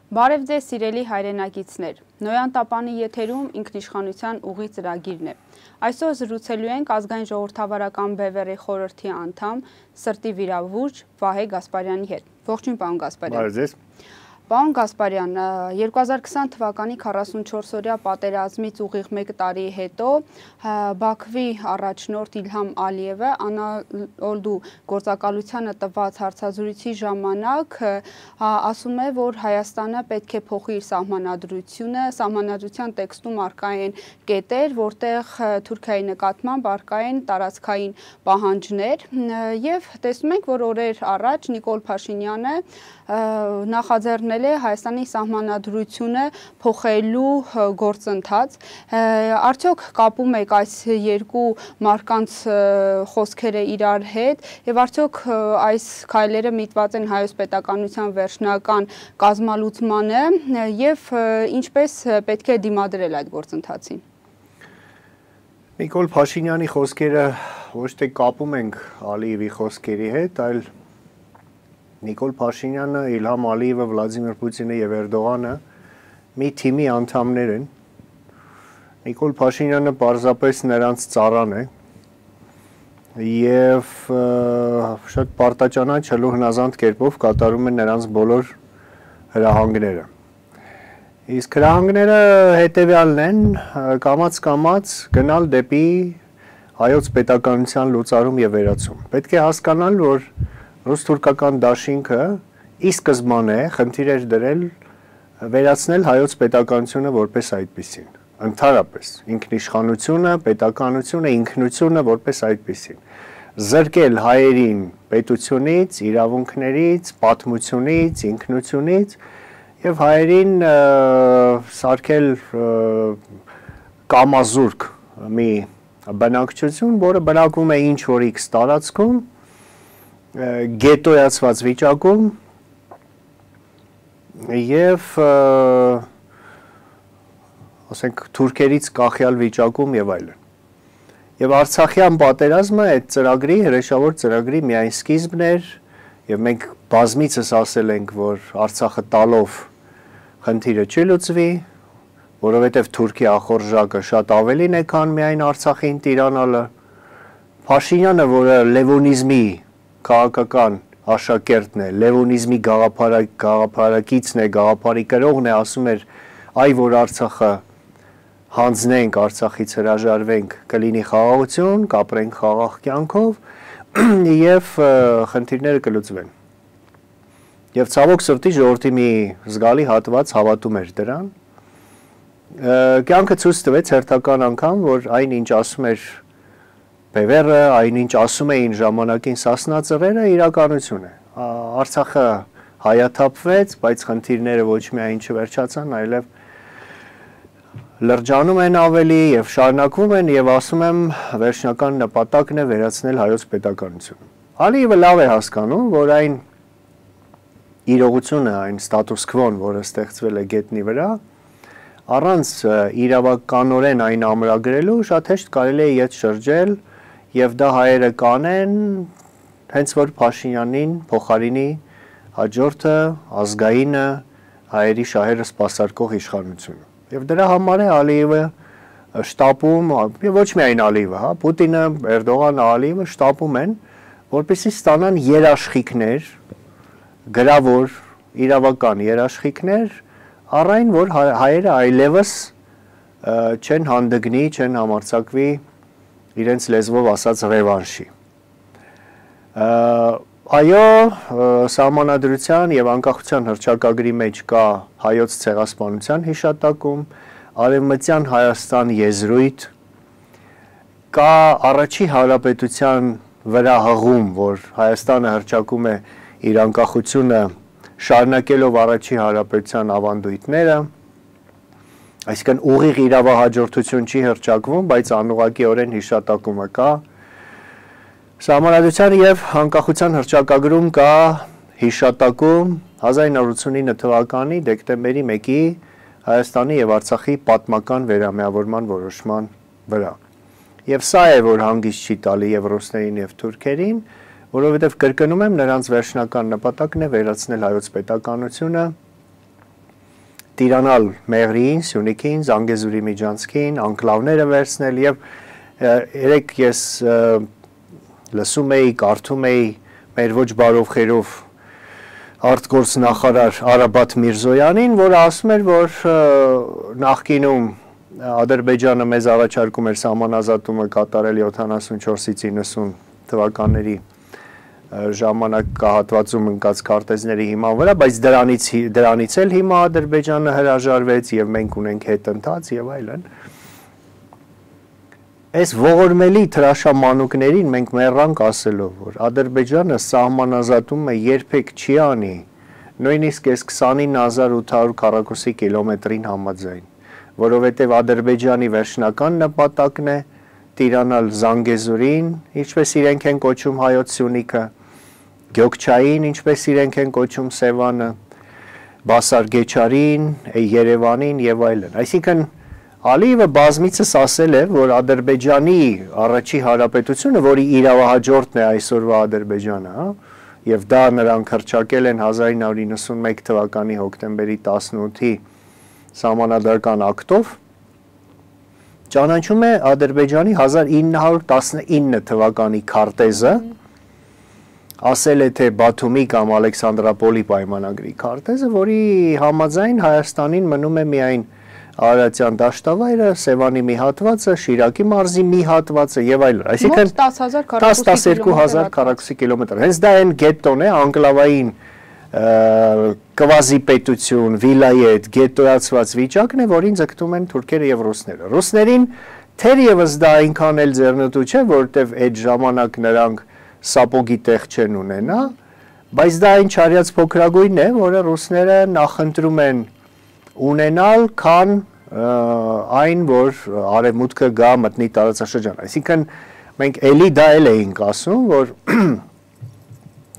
Բարև ձեզ սիրելի հայրենակիցներ, Նոյան Տապանի եթերում ինքնիշխանության ուղի ծրագիրն է։ Այսօր զրուցելու ենք ազգային ժողովրդավարական բևեռի խորհրդի անդամ, սրտի վիրավորիչ Վահե Գասպարյանի հետ։ Ողջույն, պարոն Գասպարյան։ Բարև ձեզ։ Պարոն Գասպարյան, 2020 թվականի 44-օրյա պատերազմից ուղիղ 1 տարի հետո Բաքվի առաջնորդ Իլհամ Ալիևը Անադոլու գործակալությանը տված հարցազրույցի ժամանակ ասում է, որ Հայաստանը պետք է փոխի իր սահմանադրությունը, սահմանադրության տեքստում առկա են կետեր, որտեղ Թուրքիայի նկատմամբ առկա են տարածքային պահանջներ, եւ տեսնում ենք, որ օրեր առաջ Նիկոլ Փաշինյանը նախաձեռնել է Հայաստանի սահմանադրությունը փոխելու գործընթաց։ Արդյոք կապում եք այս երկու մարկանց խոսքերը իրար հետ եւ արդյոք այս քայլերը միտված են հայոց պետականության վերջնական կազմալուծմանը եւ ինչպես պետք է դիմադրել այդ գործընթացին։ Նիկոլ Փաշինյանի խոսքերը ոչ թե կապում ենք Ալիևի խոսքերի հետ, այլ Նիկոլ Փաշինյանը, Իլհամ Ալիևը, Վլադիմիր Պուտինը եւ Էրդողանը մի թիմի անդամներ են։ Նիկոլ Փաշինյանը պարզապես նրանց ծառան է եւ շատ պարտաճանաչ հլու հնազանդ կերպով կատարում են նրանց բոլոր հրահանգները։ Իսկ հրահանգները հետեւյալն են՝ կամաց գնալ դեպի հայոց պետականության լուծարում եւ վերացում։ Պետք է հասկանալ, որ ռուս-թուրքական դաշինքը ի սկզբանե խնդիր էր դրել վերացնել հայոց պետականությունը որպես այդպիսին, ընդհանրապես ինքնիշխանությունը, պետականությունը, ինքնությունը որպես այդպիսին, զրկել հայերին պետությունից, իրավունքներից, պատմությունից, ինքնությունից եւ հայերին սարքել կամազուրկ մի բնակչություն, որը բնակվում է ինչ որ X տարածքում, գետոյացված վիճակում եւ ասենք թուրքերից կախյալ վիճակում եւ այլն։ Եվ Արցախյան պատերազմը այդ ծրագրի, հրեշավոր ծրագրի միայն սկիզբն էր եւ մենք բազմիցս ասել ենք, որ Արցախը տալով խնդիրը չլուծվի, որովհետեւ Թուրքի ախորժակը շատ ավելին է, քան միայն Արցախին տիրանալը։ Փաշինյանը, որը լևոնիզմի քաղաքական աշակերտն է, լևոնիզմի գաղափարակիցն է, գաղափարի կրողն է, ասում էր, այ որ Արցախը հանձնենք, Արցախից հրաժարվենք, կլինի խաղաղություն, կապրենք խաղաղ կյանքով եւ խնդիրները կլուծվեն։ Եվ ցավոք սրտի ժողովրդի մի զգալի հատված հավատում էր դրան։ Կյանքը ցույց տվեց հերթական անգամ, որ այն ինչ ասում էր Բևեռը, այնինչ ասում էին ժամանակին Սասնա ծռերը, իրականություն է։ Արցախը հայաթափվեց, բայց խնդիրները ոչ միայն չվերջացան, այլև լրջանում են ավելի եւ շարունակվում են եւ ասում եմ վերջնական նպատակն է վերացնել հայոց պետականությունը։ Ալիևը լավ է հասկանում, որ այն իրողությունը, այն ստատուս քվոն, որը ստեղծվել է գետնի վրա, առանց իրավականորեն այն ամրագրելու շատ հեշտ կարելի է ետ շրջել եւ դա հայերը կանեն, հենց որ Փաշինյանին փոխարինի հաջորդը ազգայինը հայերի շահերը սպասարկող իշխանությունը։ Եվ դրա համար է Ալիևը շտապում, եւ ոչ միայն Ալիևը, հա, Պուտինը, Էրդողանը, Ալիևը շտապում են, որպեսզի ստանան երաշխիքներ, գրավոր, իրավական երաշխիքներ, առ այն, որ հայերը այլևս չեն հանդգնի, չեն համարձակվի իրենց լեզվով ասած ռևանշի։ Այո, սահմանադրության եւ անկախության հռչակագրի մեջ կա հայոց ցեղասպանության հիշատակում, արևմտյան Հայաստան եզրույթ, կա առաջի հանրապետության վրա հղում, որ Հայաստանը հռչակում է իր անկախությունը շարունակելով առաջի հանրապետության ավանդույթները, այսինքն ուղիղ իրավահաջորդություն չի հռչակվում, բայց անուղղակիորեն հիշատակումը կա։ Սահմանադրության եւ անկախության հռչակագրում կա հիշատակում 1989 թվականի դեկտեմբերի 1-ի Հայաստանի եւ Արցախի պատմական վերամիավորման որոշման վրա։ Եվ սա է, որ հանգիստ չի տալի եւ ռուսներին եւ թուրքերին, որովհետեւ կրկնում եմ, նրանց վերջնական նպատակն է վերացնել հայոց պետականությունը տիրանալ Մեղրիին, Սյունիքին, Զանգեզուրի միջանցքին, անկլավները վերցնել եւ երեք ես լսում էի, կարդում էի մեր ոչ բարով խերով արտգործ նախարար Արաբաթ Միրզոյանին, որը ասում էր, որ նախկինում Ադրբեջանը մեզ առաջարկում էր սահմանազատումը կատարել 74-ից 90 թվականների ժամանակահատվածում ընկած քարտեզների հիման վրա, բայց դրանից էլ հիմա Ադրբեջանը հրաժարվեց եւ մենք ունենք հետընթաց եւ այլն։ Այս ողորմելի թրաշամանուկներին մենք մեռանք ասելով, որ Ադրբեջանը սահմանազատումը երբեք չի անի, նույնիսկ այս 29800 քառակուսի կիլոմետրին համաձայն, որովհետեւ Ադրբեջանի վերջնական նպատակն է տիրանալ Զանգեզուրին, ինչպես իրենք են կոչում հայոց Սյունիքը, Գյոքչային, ինչպես իրենք են կոչում Սևանը, Բասարգեչարին, Երևանին եւ այլն։ Այսինքն Ալիևը բազմիցս ասել է, որ Ադրբեջանի առաջի հանրապետությունը, որի իրավահաջորդն է այսօրվա Ադրբեջանը, հա, եւ դա նրանք հռչակել են 1991 թվականի հոկտեմբերի 18-ի սահմանադրական ակտով, ճանաչում է Ադրբեջանի 1919 թվականի քարտեզը, ասել է թե Բաթումի կամ Ալեքսանդրապոլի պայմանագրի քարտեզը, որի համաձայն Հայաստանին մնում է միայն Արարատյան դաշտավայրը, Սևանի մի հատվածը, Շիրակի մարզի մի հատվածը եւ այլն։ Այսինքն 10-12000 քառակուսի կիլոմետր։ Հենց դա այն գետոն է, անկլավային կվազի պետություն, վիլայետ, գետոյացված վիճակն է, որին ձգտում են թուրքերը եւ ռուսները։ Ռուսներին թերևս դա այնքան էլ ձեռնտու չէ, որովհետեւ այդ ժամանակ նրանք սապոգի տեղ չեն ունենա, բայց դա այն չարյաց փոքրագույնն է, որը ռուսները նախընտրում են ունենալ, քան այն, որ արևմուտքը գա մտնի տարածաշրջան։ Այսինքն մենք էլի դա էլ էինք ասում, որ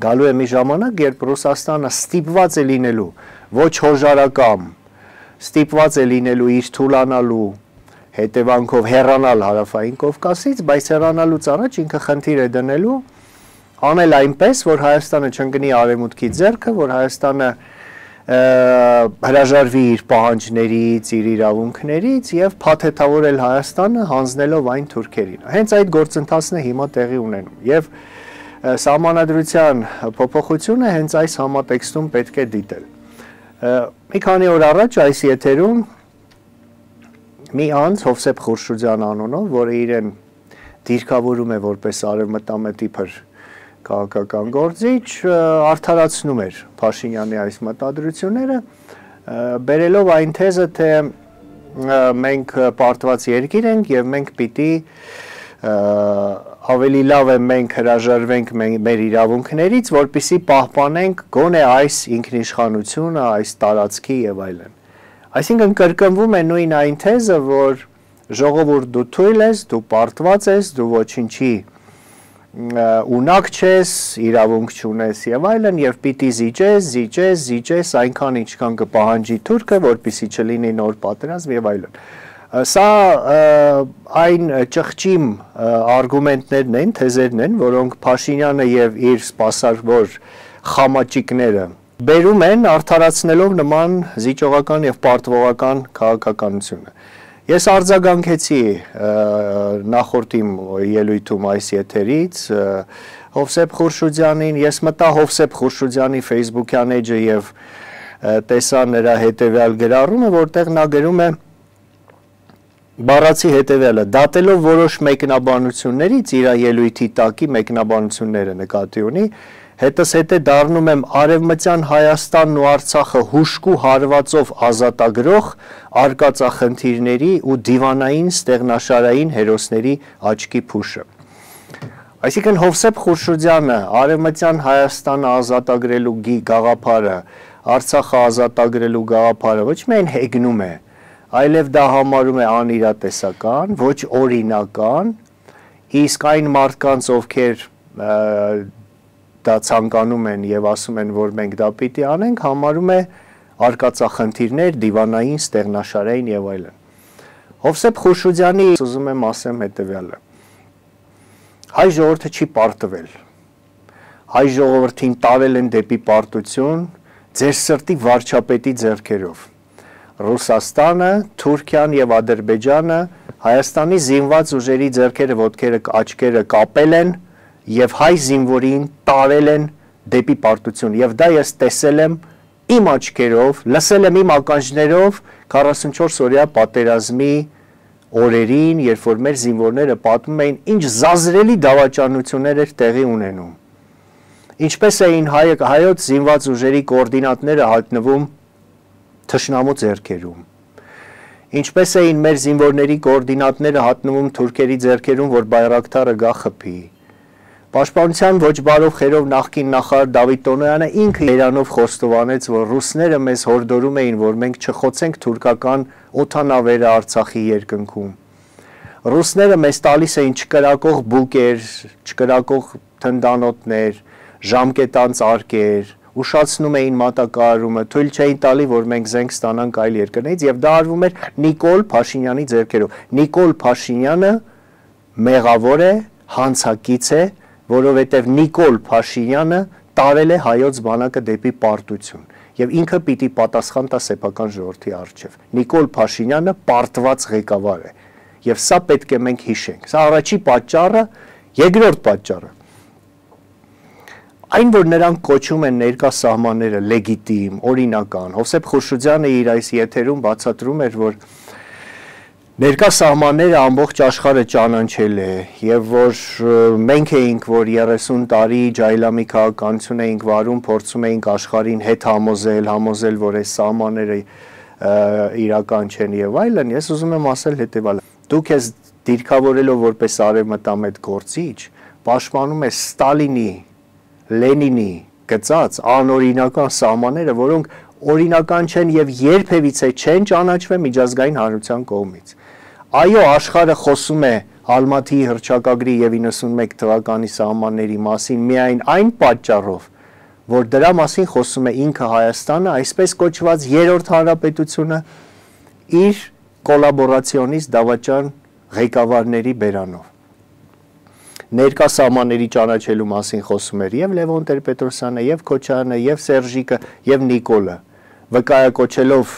գալու է մի ժամանակ, երբ Ռուսաստանը ստիպված է լինելու ոչ հոժարակամ, ստիպված է լինելու իր թուլանալու հետևանքով հեռանալ Հարավային Կովկասից, բայց հեռանալուց առաջ ինքը խնդիր է դնելու անել այնպես, որ Հայաստանը չընկնի արևմուտքի ձեռքը, որ Հայաստանը հրաժարվի իր պահանջներից, իր իրավունքներից եւ փաթեթավորել Հայաստանը հանձնելով այն թուրքերին։ Հենց այդ գործընթացն է հիմա տեղի ունենում եւ սահմանադրության փոփոխությունը հենց այս համատեքստում պետք է դիտել։ Մի քանի օր առաջ այս եթերում մի անձ Հովսեփ Խուրշուդյան անունով, որը իրեն դիրքավորում է որպես արևմտամետիփր քաղաքական գործիչ, արդարացնում էր Փաշինյանի այս մտադրությունները, բերելով այն թեզը, թե մենք պարտված երկիր ենք եւ մենք պիտի ավելի լավ է մենք հրաժարվենք մեր իրավունքներից, որպեսզի պահպանենք գոնե այս ինքնիշխանությունը, այս տարածքի եւ այլն։ Այսինքն կրկնվում է նույն այն թեզը, որ ժողովուրդ դու թույլ ես, դու պարտված ես, դու ոչինչի ունակ չես, իրավունք չունես եւ այլն եւ պիտի զիջես այնքան ինչքան կպահանջի թուրքը, որպեսզի չլինի նոր պատերազմ եւ այլն։ Սա այն ճղճիմ արգումենտներն են, թեզերն են, որոնք Փաշինյանը եւ իր սպասարկավոր խամաճիկները բերում են արդարացնելով նման զիջողական եւ պարտվողական քաղաքականությունը։ Ես արձագանքեցի նախորդ իմ ելույթում այս եթերից Հովսեփ Խուրշուդյանին, ես մտա Հովսեփ Խուրշուդյանի Facebook-յան էջը եւ տեսա նրա հետեւյալ գրառումը, որտեղ նա գրում է բառացի հետեւյալը. դատելով որոշ մեկնաբանություններից իր ելույթի տակի մեկնաբանությունները նկատի ունի, հետզհետե դառնում եմ Արևմտյան Հայաստանն ու Արցախը հուշկու հարվածով ազատագրող արկածախնդիրների ու դիվանային ստեղնաշարային հերոսների աչքի փուշը։ Այսինքն Հովսեփ Խուրշուդյանը Արևմտյան Հայաստանը ազատագրելու գաղափարը, Արցախը ազատագրելու գաղափարը ոչ միայն հեգնում է, այլև դա համարում է անիրատեսական, ոչ օրինական, իսկ այն մարդկանց, ովքեր դա ցանկանում են եւ ասում են, որ մենք դա պիտի անենք, համարում է արկածախնդիրներ, դիվանային, ստեղնաշարային եւ այլն։ Հովսեփ Խուրշուդյանի ուզում եմ ասեմ հետեւյալը. հայ ժողովուրդը չի պարտվել։ Հայ ժողովրդին տարել են դեպի պարտություն ձեր սրտի վարչապետի ձեռքերով։ Ռուսաստանը, Թուրքիան եւ Ադրբեջանը Հայաստանի զինված ուժերի ձեռքերը, ոտքերը, աչքերը կապել են եւ հայ զինվորին տարել են դեպի պարտություն եւ դա ես տեսել եմ իմ աչքերով, լսել եմ իմ ականջներով 44 օրյա պատերազմի օրերին, երբ որ մեր զինվորները պատմում էին ինչ զազրելի դավաճանություններ էր տեղի ունենում։ Ինչպես էին հայոց զինված ուժերի կոորդինատները հայտնվում թշնամու ձեռքերում։ Ինչպես էին մեր զինվորների կոորդինատները հատնվում թուրքերի ձեռքերում, որ Բայրակթարը գա խփի։ Պաշտպանության ոչ բարով խերով նախկին նախարար Դավիթ Տոնոյանը ինքը Իրանով խոստովանեց, որ ռուսները մեզ հորդորում էին, որ մենք չխոցենք թուրքական օդանավերը Արցախի երկնքում։ Ռուսները մեզ տալիս էին չկրակող բուկեր, չկրակող թնդանոթներ, ժամկետանց արկեր, ուշացնում էին մատակարարումը, թույլ չէին տալի, որ մենք զենք ստանանք այլ երկրներից եւ դա արվում էր Նիկոլ Փաշինյանի ձեռքերով։ Նիկոլ Փաշինյանը մեղավոր է, հանցակից է, որովհետեւ Նիկոլ Փաշինյանը տարել է հայոց բանակը դեպի պարտություն եւ ինքը պիտի պատասխան տա սեփական ժողովրդի առջեւ։ Նիկոլ Փաշինյանը պարտված ղեկավար է եւ սա պետք է մենք հիշենք։ Սա առաջի պատճառը, երկրորդ պատճառը Այն, որ նրանք կոչում են ներկա սահմանները լեգիտիմ, օրինական, Հովսեփ Խուրշուդյանը իր այս եթերում բացատրում էր, որ ներկա սահմանները ամբողջ աշխարհը ճանաչել է եւ որ մենք էինք, որ 30 տարի ջայլամի քաղաքականություն էինք վարում, փորձում էինք աշխարհին հետ համոզել, որ այս սահմանները իրական չեն եւ այլն, ես ուզում եմ ասել հետեւալը. դուք ես դիրքավորելով որպես արևմտամետ գործիչ, պաշտպանում ես Ստալինի Լենինի գծած անօրինական սահմանները, որոնք օրինական չեն եւ երբևիցե չեն ճանաչվել միջազգային հանրության կողմից։ Այո, աշխարհը խոսում է Ալմատիի հռչակագրի եւ 91 թվականի սահմանների մասին միայն այն պատճառով, որ դրա մասին խոսում է ինքը Հայաստանը, այսպես կոչված երրորդ հանրապետությունը իր կոլաբորացիոնիստ դավաճան ղեկավարների բերանով։ Ներկա սահմանների ճանաչելու մասին խոսում էր եւ Լևոն Տեր-Պետրոսյանը, եւ Քոչարյանը, եւ Սերժիկը, եւ Նիկոլը, վկայակոչելով,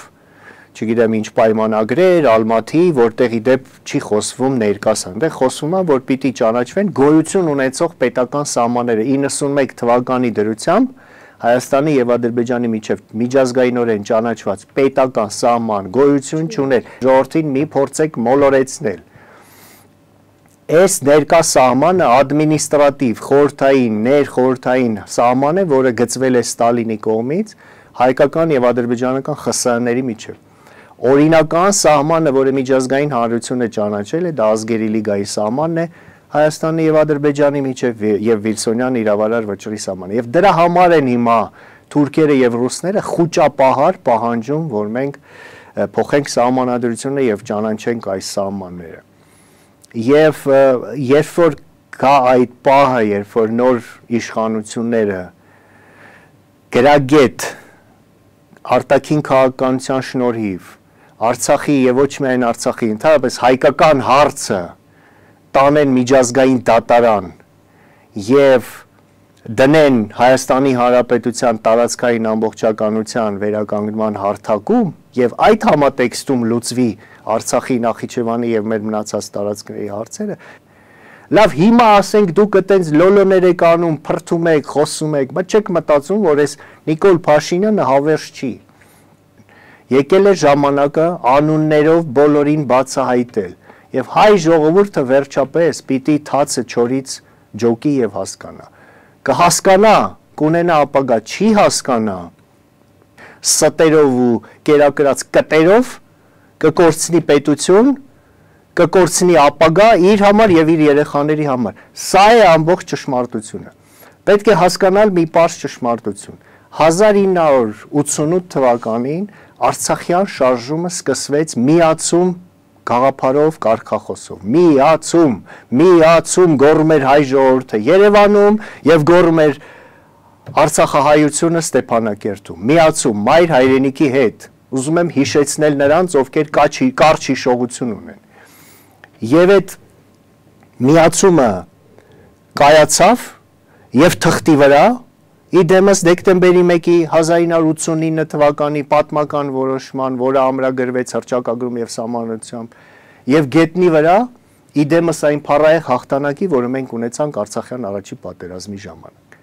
չգիտեմ ինչ պայմանագրեր, Ալմատի, որտեղի դեպ չի խոսվում ներկասան, դե խոսվում է, որ պիտի ճանաչվեն գոյություն ունեցող պետական սահմանները 91 թվականի դրությամբ Հայաստանի եւ Ադրբեջանի միջև միջազգայինորեն ճանաչված պետական սահման գոյություն չուներ։ Ժողովրդին մի փորձեք մոլորեցնել։ Այս ներկա սահմանը ադմինիստրատիվ, խորհրդային, ներխորհրդային սահման է, որը գծվել է Ստալինի կողմից հայկական եւ ադրբեջանական ԽՍՀ-ների միջև։ Օրինական սահմանը, որը միջազգային հանրությունը ճանաչել է, դա ազգերի լիգայի սահմանն է Հայաստանի եւ Ադրբեջանի միջև եւ Վիլսոնյան իրավարար վճռի սահմանը։ Եվ դրա համար են հիմա թուրքերը եւ ռուսները խուճապահար պահանջում, որ մենք փոխենք սահմանադրությունը եւ ճանաչենք այս սահմանները։ Եվ երբ որ կա այդ պահը, երբ որ նոր իշխանությունները գրագետ արտաքին քաղաքականության շնորհիվ Արցախի եւ ոչ միայն Արցախի, ընդհանրապես հայկական հարցը տանեն միջազգային դատարան եւ դնեն Հայաստանի Հանրապետության տարածքային ամբողջականության վերականգնման հարթակում եւ այդ համատեքստում լուծվի Արցախի, Նախիջևանի եւ մեր մնացած տարածքների հարցերը, լավ հիմա ասենք դուք այտենց լոլոներ եք անում, փրթում եք, խոսում եք, բայց չեք մտածում, որ այս Նիկոլ Փաշինյանը հավերժ չի։ Եկել է ժամանակը անուններով բոլորին բացահայտել եւ հայ ժողովուրդը վերջապես պիտի թացը չորից ջոկի եւ հասկանա։ Կհասկանա, կունենա ապագա, չի հասկանա, ստերով ու կերակրած կտերով կկորցնի պետություն, կկորցնի ապագա իր համար եւ իր երեխաների համար։ Սա է ամբողջ ճշմարտությունը։ Պետք է հասկանալ մի պարզ ճշմարտություն։ 1988 թվականին Արցախյան շարժումը սկսվեց միացում գաղափարով, կարգախոսով։ Միացում գոռում էր հայ ժողովուրդը Երևանում եւ գոռում էր Արցախահայությունը Ստեփանակերտում։ Միացում մայր հայրենիքի հետ։ Ուզում եմ հիշեցնել նրանց, ովքեր կարճ հիշողություն ունեն։ Եվ այդ միացումը կայացավ եւ թղթի վրա Իդեմս դեկտեմբերի 1-ի 1989 թվականի պատմական որոշման, որը ամրագրվեց հռչակագրում եւ սահմանադրությամբ, եւ գետնի վրա իդեմս այն փառահեղ հաղթանակի, որը մենք ունեցանք Արցախյան առաջի պատերազմի ժամանակ։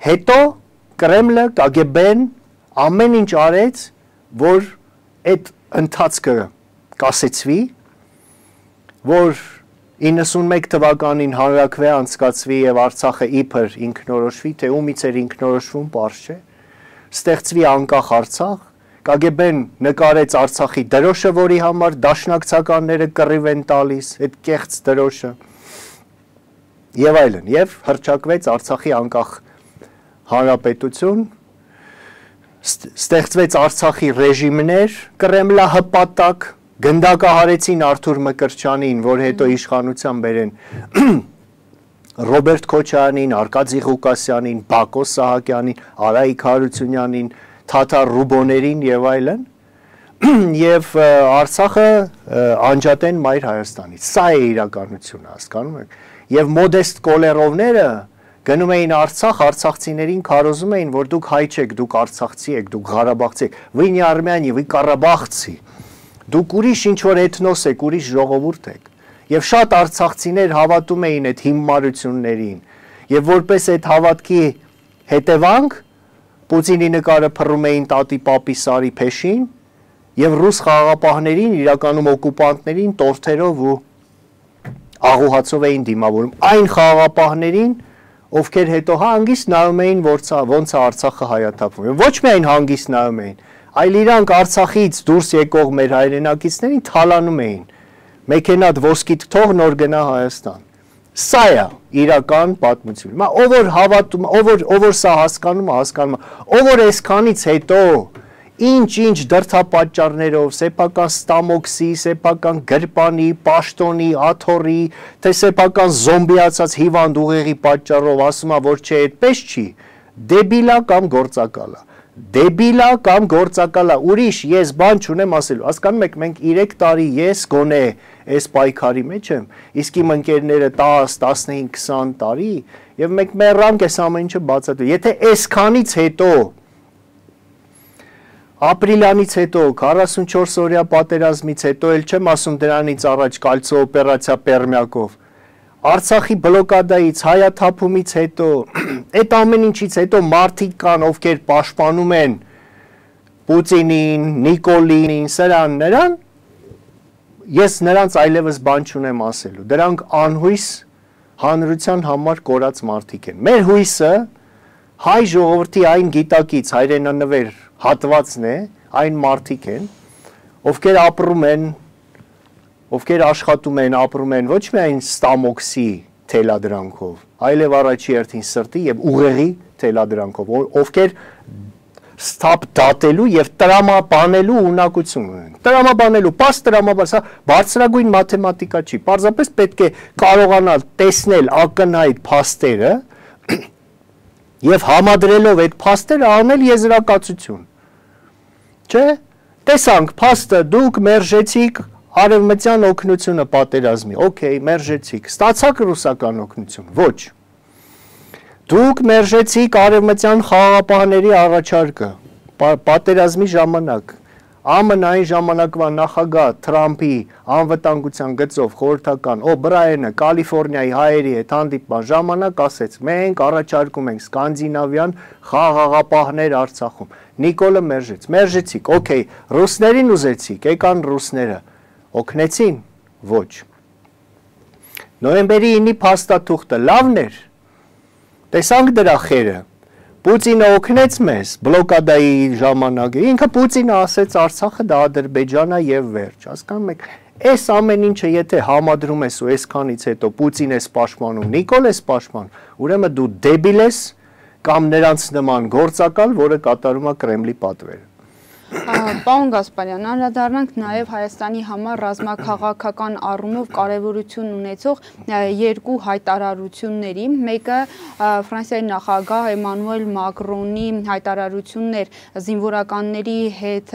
Հետո Կրեմլը, KGB-ն ամեն ինչ արեց, որ այդ ընթացքը կասեցվի, որ 91 թվականին հանրաքվե անցկացվի եւ Արցախը իբր ինքնորոշվի, թե ումից էր ինքնորոշվում, պարզ չէ, ստեղծվի անկախ Արցախ, KGB-ն նկարեց Արցախի դրոշը, որի համար դաշնակցականները կռիվ են տալիս, այդ կեղծ դրոշը եւ այլն, եւ հռչակվեց Արցախի անկախ հանրապետություն, ստեղծվեց Արցախի ռեժիմներ, կրեմլահպատակ, գնդակահարեցին Արթուր Մկրտչյանին, որ հետո իշխանության բերեն Ռոբերտ Քոչարյանին, Արկադի Ղուկասյանին, Բակո Սահակյանին, Արայիկ Հարությունյանին, Թաթար Ռուբոներին եւ այլն, եւ Արցախը անջատեն Մայր Հայաստանից։ Սա է իրականությունը, հասկանում եք։ Եվ մոդեստ կոլերովները գնում էին Արցախ, արցախցիներին քարոզում էին, որ դուք հայ չեք, դուք արցախցի եք, դուք Ղարաբաղցի եք, вы не армяне, вы Ղարաբաղցի։ Դուք ուրիշ ինչ-որ էթնոս եք, ուրիշ ժողովուրդ եք։ Եվ շատ արցախցիներ հավատում էին այդ հիմարություններին։ Եվ որպես այդ հավատքի հետևանք Պուտինի նկարը փռում էին տատի պապի Սարի փեշին եւ ռուս խաղաղապահներին, իրականում օկուպանտներին տորթերով ու աղուհացով էին դիմավորում այն խաղաղապահներին, ովքեր հետո հանգիստ նայում էին, ոնց է Արցախը հայաթափվում։ Ոչ միայն հանգիստ նայում էին, այլ իրանք Արցախից դուրս եկող մեր հայրենակիցներին թալանում էին։ Մեքենատ ոսկիդ թող նոր գնա Հայաստան։ Սա է իրական պատմությունը։ Ով որ հավատում, ով որ սա հասկանում է, ով որ այսքանից հետո ինչ դրդապատճառներով, սեփական ստամոքսի, սեփական գրպանի, պաշտոնի, աթոռի, թե սեփական զոմբիացած հիվանդ ուղեղի պատճառով ասում է, որ չէ, այդպես չի, դեբիլա կամ գործակալ է։ Դեբիլա կամ գործակալա, ուրիշ ես բան չունեմ ասելու, հասկանում եք, մենք 3 տարի ես գոնե այս պայքարի մեջ եմ, իսկ իմ ընկերները 10, 15, 20 տարի, եւ մենք մեռանք այս ամեն ինչը բացատրել։ Եթե այսքանից հետո, ապրիլյանից հետո, 44 օրյա պատերազմից հետո, էլ չեմ ասում դրանից առաջ կալցո օպերացիա Պերմյակով, Արցախի բլոկադայից, հայաթափումից հետո, այդ ամեն ինչից հետո մարդիկ կան, ովքեր պաշտպանում են Պուտինին, Նիկոլին, սրան, նրան, ես նրանց այլևս բան չունեմ ասելու։ Դրանք անհույս հանրության համար կորած մարդիկ են։ Մեր հույսը հայ ժողովրդի այն գիտակից հայրենանվեր հատվածն է, այն մարդիկ են, ովքեր ապրում են, ովքեր աշխատում են, ապրում են ոչ միայն ստամոքսի թելադրանքով, այլև առաջի հերթին սրտի եւ ուղեղի թելադրանքով, ովքեր ստապ դատելու եւ տրամաբանելու ունակություն ունեն։ Տրամաբանելու, պաս տրամաբան, սա բարձրագույն մաթեմատիկա չի, պարզապես պետք է կարողանալ տեսնել ակնհայտ փաստերը եւ համադրելով այդ փաստերը անել եզրակացություն։ Չէ՞։ Տեսանք փաստը, դուք մերժեցիք արևմտյան օգնությունը պատերազմի, օքեյ, մերժեցիք, ստացաք ռուսական օգնություն, ոչ։ Դուք մերժեցիք արևմտյան խաղաղապահների առաջարկը, պատերազմի ժամանակ, ԱՄՆ-ի ժամանակվա նախագահ Թրամփի անվտանգության գծով խորհրդական Օբրայենը Կալիֆոռնիայի հայերի հետ հանդիպման ժամանակ ասեց, մենք առաջարկում ենք սկանդինավյան խաղաղապահներ Արցախում։ Նիկոլը մերժեցիք, օքեյ, ռուսներին ուզեցիք, եկան ռուսները, օգնեցին, ոչ։ Նոյեմբերի 9-ի փաստաթուղթը լավն էր, տեսանք դրա խերը, Պուտինը օգնեց մեզ բլոկադայի ժամանակ, ինքը Պուտինը ասեց Արցախը դա Ադրբեջանա եւ վերջ, հասկանում եք, այս ամեն ինչը եթե համադրում ես ու այսքանից հետո Պուտին ես պաշտպանում, Նիկոլ ես պաշտպանում, ուրեմն դու դեբիլ ես կամ նրանց նման գործակալ, որը կատարում է Կրեմլի պատվերը։ Պարոն Գասպարյան, անդրադառնանք նաև Հայաստանի համար ռազմաքաղաքական առումով կարևորություն ունեցող երկու հայտարարությունների։ Մեկը Ֆրանսիայի նախագահ Էմանուել Մակրոնի հայտարարությունն էր զինվորականների հետ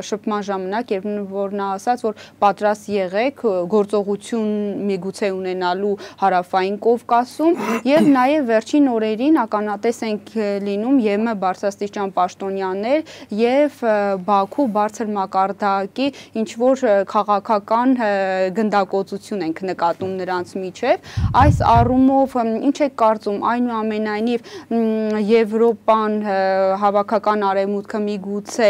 շփման ժամանակ, երբ որ նա ասաց, որ պատրաստ եղեք գործողություն միգուցե ունենալու Հարավային Կովկասում, եւ նաև վերջին օրերին ականատես ենք լինում ԵՄ բարձրաստիճան պաշտոնյաներ եւ Բաքու բարձր մակարդակի ինչ որ քաղաքական գնդակոծություն ենք նկատում նրանց միջև։ Այս առումով ինչ եք կարծում, այնուամենայնիվ Եվրոպան, հավաքական արևմուտքը միգուցե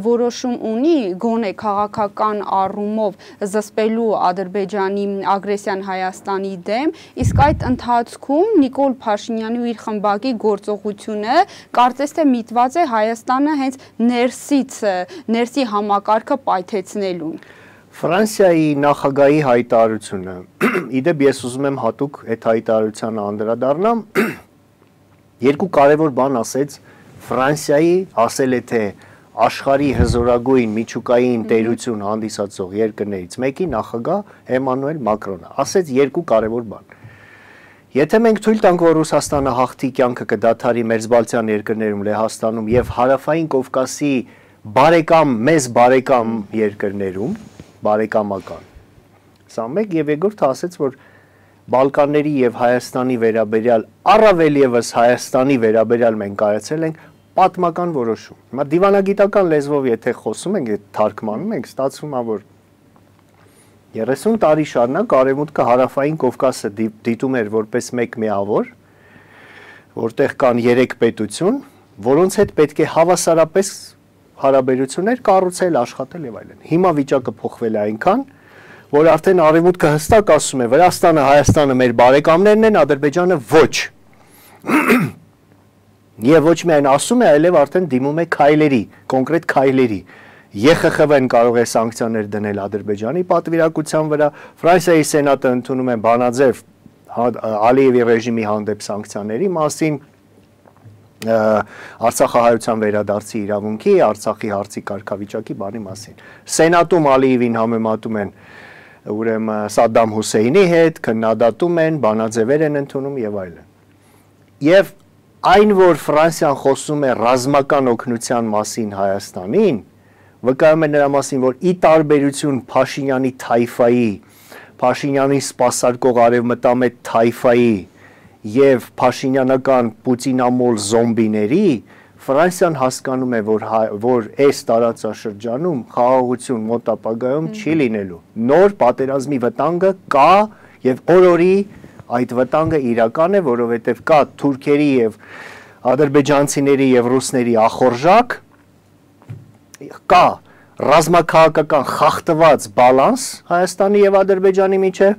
որոշում ունի գոնե քաղաքական առումով զսպելու Ադրբեջանի ագրեսիան Հայաստանի դեմ, իսկ այդ ընթացքում Նիկոլ Փաշինյանի ու իր խմբակի գործողությունը կարծես թե միտված է Հայաստանը հենց ներսի համակարգը պայթեցնելուն։ Ֆրանսիայի նախագահի հայտարարությունը, իդեպ ես ուզում եմ հատուկ այդ հայտարարությանը անդրադառնամ, երկու կարևոր բան ասեց Ֆրանսիայի, ասել է թե աշխարհի հզորագույն միջուկային տերություն հանդիսացող երկրներից մեկի նախագահ Էմանուել Մակրոնը, ասեց երկու կարևոր բան։ Եթե մենք թույլ տանք, որ Ռուսաստանը հաղթի կյանքը կդադարի մերձբալթյան երկրներում, Լեհաստանում եւ Հարավային Կովկասի մեզ բարեկամ երկրներում, բարեկամական։ Սա մեկ եւ երկրորդը ասեց, որ Բալկանների եւ Հայաստանի վերաբերյալ, առավել եւս Հայաստանի վերաբերյալ մենք կայացել ենք պատմական որոշում։ Հիմա դիվանագիտական լեզվով եթե խոսում ենք, թարգմանում ենք, ստացվում է, որ 30 տարի շարունակ Արևմուտքը Հարավային Կովկասը դիտում էր որպես մեկ միավոր, որտեղ կան 3 պետություն, որոնց հետ պետք է հավասարապես հարաբերություններ կառուցել, աշխատել եւ այլն։ Հիմա վիճակը փոխվել է այնքան, որ արդեն Արևմուտքը հստակ ասում է, Վրաստանը, Հայաստանը մեր բարեկամներն են, Ադրբեջանը ոչ։ Եվ ոչ միայն ասում է, այլև արդեն դիմում է քայլերի, կոնկրետ քայլերի։ ԵԽԽՎ-ն կարող է սանկցիաներ դնել Ադրբեջանի պատվիրակության վրա, Ֆրանսիայի սենատը ընդունում է բանաձև Ալիևի ռեժիմի հանդեպ սանկցիաների մասին, Արցախահայության վերադարձի իրավունքի, Արցախի հարցի կարգավիճակի բանի մասին։ Սենատում Ալիևին համեմատում են ուրեմն Սադամ Հուսեյնի հետ, քննադատում են, բանաձևեր են ընդունում եւ այլն։ Եվ այն, որ Ֆրանսիան խոսում է ռազմական օգնության մասին Հայաստանին, վկայում է նրա մասին, որ ի տարբերություն Փաշինյանի թայֆայի, Փաշինյանի սպասարկող արևմտամետ թայֆայի եւ Փաշինյանական պուտինամոլ զոմբիների, Ֆրանսիան հասկանում է, որ այս տարածաշրջանում խաղաղություն մոտ ապագայում չի լինելու։ Նոր պատերազմի վտանգը կա եւ օրորի այդ վտանգը իրական է, որովհետեւ կա թուրքերի եւ ադրբեջանցիների եւ ռուսների ախորժակ, կա ռազմաքաղաքական խախտված բալանս Հայաստանի եւ Ադրբեջանի միջեւ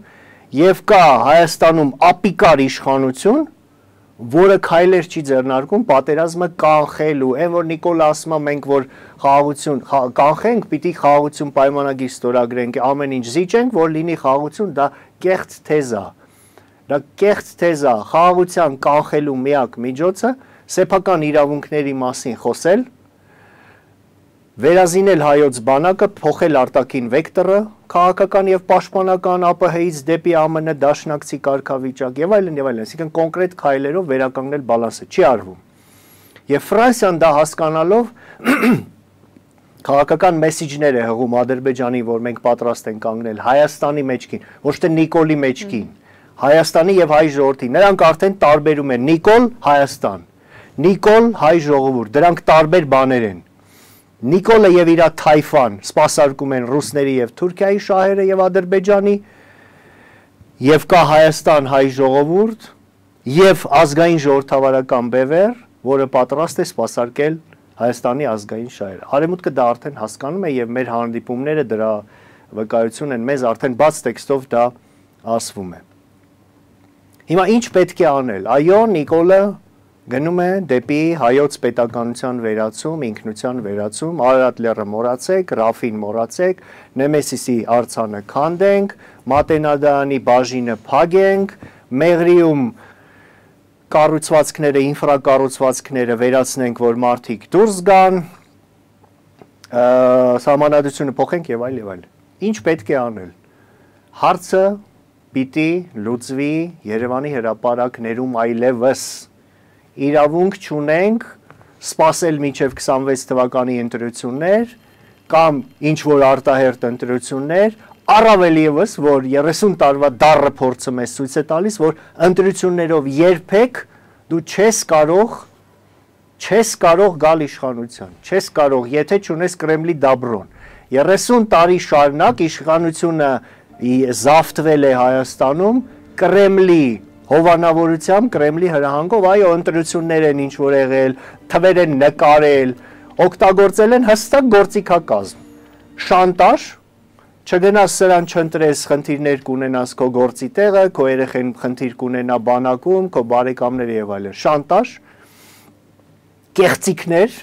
եւ կա Հայաստանում ապիկար իշխանություն, որը քայլեր չի ձեռնարկում պատերազմը կանխելու, այն որ Նիկոլը ասում է մենք որ խաղաղություն կանխենք, պիտի խաղաղություն պայմանագիր ստորագրենք, ամեն ինչ զիջենք, որ լինի խաղաղություն, դա կեղծ թեզ է։ Դա կեղծ թեզ է, խաղաղության կանխելու միակ միջոցը սեփական իրավունքների մասին խոսել, վերազինել հայոց բանակը, փոխել արտաքին վեկտորը, քաղաքական եւ պաշտպանական ԱՊՀ-ից դեպի ԱՄՆ դաշնակցի կարգավիճակ եւ այլն, այսինքն կոնկրետ քայլերով վերականգնել բալանսը չի արվում։ Եվ Ֆրանսիան դա հասկանալով քաղաքական մեսեջներ է հղում Ադրբեջանին, որ մենք պատրաստ ենք կանգնել Հայաստանի մեջքին, ոչ թե Նիկոլի մեջքին, Հայաստանի եւ հայ ժողովրդի։ Նրանք արդեն տարբերում են Նիկոլ, Հայաստան, Նիկոլ, հայ ժողովուրդ, դրանք տարբեր բաներ են։ Նիկոլը եւ իր թայֆան սպասարկում են ռուսների եւ Թուրքիայի շահերը եւ Ադրբեջանի եւ կա Հայաստան հայ ժողովուրդ եւ ազգային ժողովրդավարական բևեռ, որը պատրաստ է սպասարկել Հայաստանի ազգային շահերը։ Արևմուտքը դա արդեն հասկանում է եւ մեր հանդիպումները դրա վկայություն են, մեզ արդեն բաց տեքստով դա ասվում է։ Հիմա ինչ պետք է անել։ Այո, Նիկոլը գնում է դեպի հայոց պետականության վերացում, ինքնության վերացում, Արարատ լեռը մոռացեք, Ռաֆին մոռացեք, Նեմեսիսի արձանը քանդենք, Մատենադարանի բաժինը փագենք, Մեղրիում կառուցվածքները, ինֆրակառուցվածքները վերացնենք, որ մարդիկ դուրս գան, Սահմանադրությունը փոխենք եւ այլ եւ այլ։ Ինչ պետք է անել։ Հարցը պիտի լուծվի Երևանի հրապարակներում այլևս։ Իրավունք չունենք սպասել մինչև 26 թվականի ընտրություններ կամ ինչ որ արտահերտ ընտրություններ, առավել եւս, որ 30 տարվա դառը փորձը մեզ ցույց է տալիս, որ ընտրություններով երբեք դու չես կարող գալ իշխանության, չես կարող, եթե չունես Կրեմլի դաբրոն։ 30 տարի շարունակ իշխանությունը զավթվել է Հայաստանում Կրեմլի հովանավորությամբ, Կրեմլի հրահանգով, այո, ընտրություններ են ինչ որ եղել, թվեր են նկարել, օգտագործել են հստակ գործիքակազմ, շանտաժ, չգնաս սրան չընտրես, խնդիրներ կունենաս քո գործի տեղը, քո երեխեն խնդիր կունենա բանակում, քո բարեկամները եւ այլն, շանտաժ, կեղծիքներ,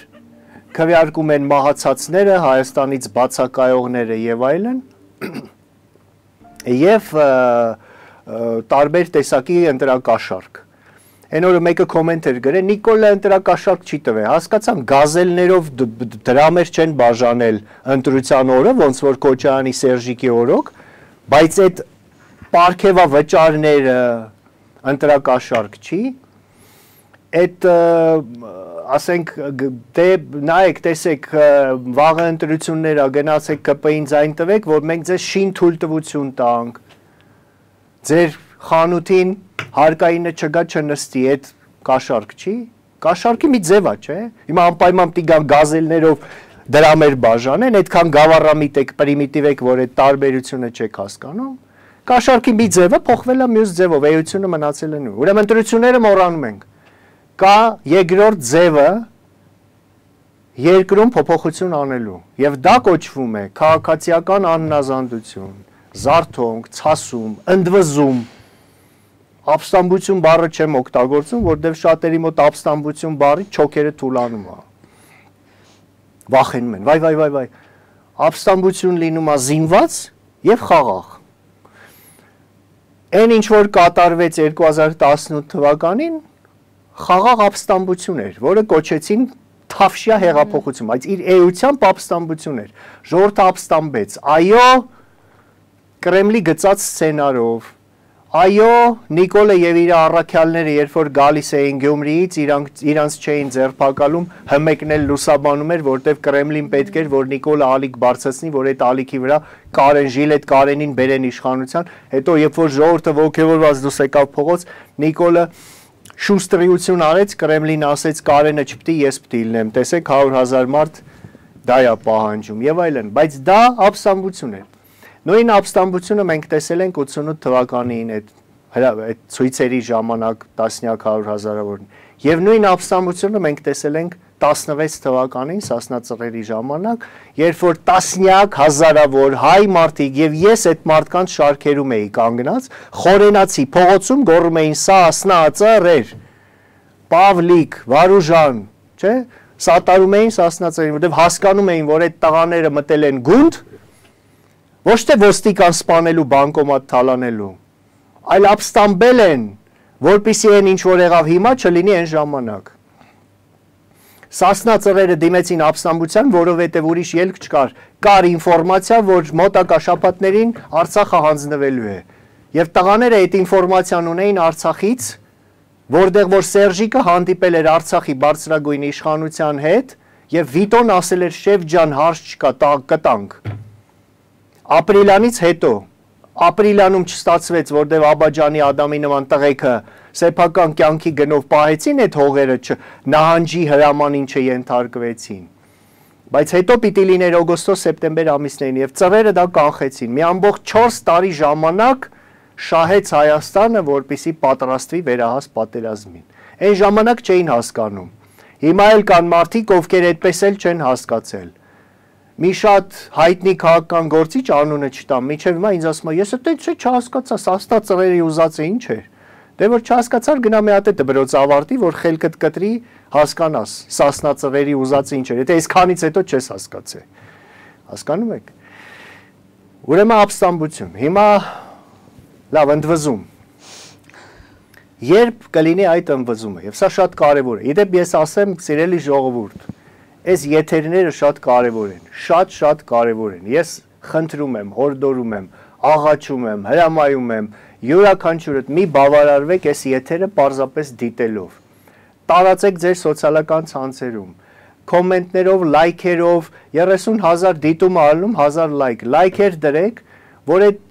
քվեարկում են մահացածները, Հայաստանից բացակայողները եւ այլն, եւ տարբեր տեսակի ընտրակաշարք։ Այն օրը մեկը կոմենտ էր գրել, Նիկոլը ընտրակաշարք չի տվել, հասկացամ, գազելներով դրամեր չեն բաժանել ընտրության օրը, ոնց որ Քոչարյանի Սերժիկի օրոք, բայց այդ պարգևավճարները ընտրակաշարք չի, այդ ասենք դե նայեք տեսեք վաղը ընտրություններ ա գնացեք ԿՊ-ին ձայն տվեք, որ մենք ձեզ շին թույլտվություն տանք, ձեր խանութին հարկայինը չգա չնստի, այդ կաշարք չի, կաշարքի մի ձև ա, չէ, հիմա անպայման պիտի գան գազելներով դրամեր բաժանեն, այդքան գավառամիտ եք, պրիմիտիվ եք, որ այդ տարբերությունը չեք հասկանում, կաշարքի մի ձևը փոխվել է մյուս ձևով, էությունը մնացել է նույն, ուրեմն ընտրությունները մոռանում ենք, կա երկրորդ ձևը երկրում փոփոխություն անելու եւ դա կոչվում է քաղաքացիական անհնազանդություն, զարթոնք, ցասում, ընդվզում, ապստամբություն բառը չեմ օգտագործում, որտեղ շատերի մոտ ապստամբություն բառի չոքերը թուլանում է։ Վախենում են, վայ, ապստամբություն լինում է զինված եւ խաղաղ։ Այն ինչ որ կատարվեց 2018 թվականին խաղաղ ապստամբություն էր, որը կոչեցին թավշյա հեղափոխություն, բայց իր էությամբ ապստամբություն էր, ժողովուրդը ապստամբեց, այո, Կրեմլի գծած սցենարով, այո, Նիկոլը եւ իր առաքյալները, երբ որ գալիս էին Գյումրիից, իրանց չէին ձերբակալում, հմեկնել լուսաբանում էր, որտեվ Կրեմլին պետք էր, որ Նիկոլը ալիք բարձրացնի, որ այդ ալիքի վրա Կարեն Ժիլետ Կարենին բերեն իշխանության, հետո երբ որ ժողովուրդը ոգևորված դուրս եկավ փողոց, Նիկոլը շուստրիություն արեց, Կրեմլին ասեց Կարենը չպիտի, ես պիտի լինեմ, տեսեք 100,000 մարդ դա է պահանջում եւ այլն, բայց դա ապստամբություն է։ Նույն ապստամբությունը մենք տեսել ենք 88 թվականին այդ ցույցերի ժամանակ տասնյակ 100,000-ավոր եւ նույն ապստամբությունը մենք տեսել ենք 16 թվականին Սասնա ծռերի ժամանակ, երբ որ տասնյակ հազարավոր հայ մարդիկ եւ ես այդ մարդկանց շարքերում էի կանգնած, խորենացի փողոցում գոռում էին Սասնա ծռեր, Պավլիկ, Վարուժան, չէ՞, սատարում էին Սասնա ծռերին, որտեղ հասկանում էին, որ այդ տղաները մտել են գունդ, ոչ թե ոստիկան սպանելու, բանկոմատ թալանելու, այլ ապստամբել են, որպեսզի այն ինչ որ եղավ հիմա չլինի այն ժամանակ։ Սասնա ծռերը դիմեցին ապստամբության, որովհետև ուրիշ ելք չկար, կար ինֆորմացիա, որ մոտակա շաբաթներին Արցախը հանձնվելու է։ Եվ տղաները այդ ինֆորմացիան ունեին Արցախից, որտեղ որ Սերժիկը հանդիպել էր Արցախի բարձրագույն իշխանության հետ, եւ Վիտոն ասել էր շեֆ ջան, հարց չկա, կտանք։ Ապրիլյանից հետո, ապրիլյանում չստացվեց, որտեղ Աբաջանի Ադամի նման տղեկը սեփական կյանքի գնով պահեցին այդ հողերը, նահանջի հրամանին չենթարկվեցին։ Բայց հետո պիտի լիներ օգոստոս-սեպտեմբեր ամիսներին եւ ծռերը դա կանխեցին։ Մի ամբողջ 4 տարի ժամանակ շահեց Հայաստանը, որպեսզի պատրաստվի վերահաս պատերազմին։ Այն ժամանակ չէին հասկանում։ Հիմա էլ կան մարդիկ, ովքեր այդպես էլ չեն հասկացել։ Մի շատ հայտնի քաղաքական գործիչ անունը չտամ, միջև հիմա ինձ ասում է, ես այդպես չհասկացա, Սասնա ծռերի ուզածը ինչ էր։ Դե որ չհասկացար գնա մի հատ է դպրոց ավարտի, որ խելքդ կտրի, հասկանաս, Սասնա ծռերի ուզածը ինչ էր։ Եթե այսքանից հետո չես հասկացել։ Հասկանում եք։ Ուրեմն ապստամբություն։ Հիմա լավ ընդվզում։ Երբ կլինի այդ ընդվզումը, եւ սա շատ կարեւոր է։ Իդեպ ես ասեմ, սիրելի ժողովուրդ, այս եթերները շատ կարևոր են, շատ կարևոր են։ Ես խնդրում եմ, հորդորում եմ, աղաչում եմ, հրամայում եմ, յուրաքանչյուրդ մի բավարարվեք այս եթերը պարզապես դիտելով։ Տարածեք ձեր սոցիալական ցանցերում, կոմենտներով, լայքերով, 30,000 դիտում ալնում 1000 լայք, լայքեր դրեք, որ այդ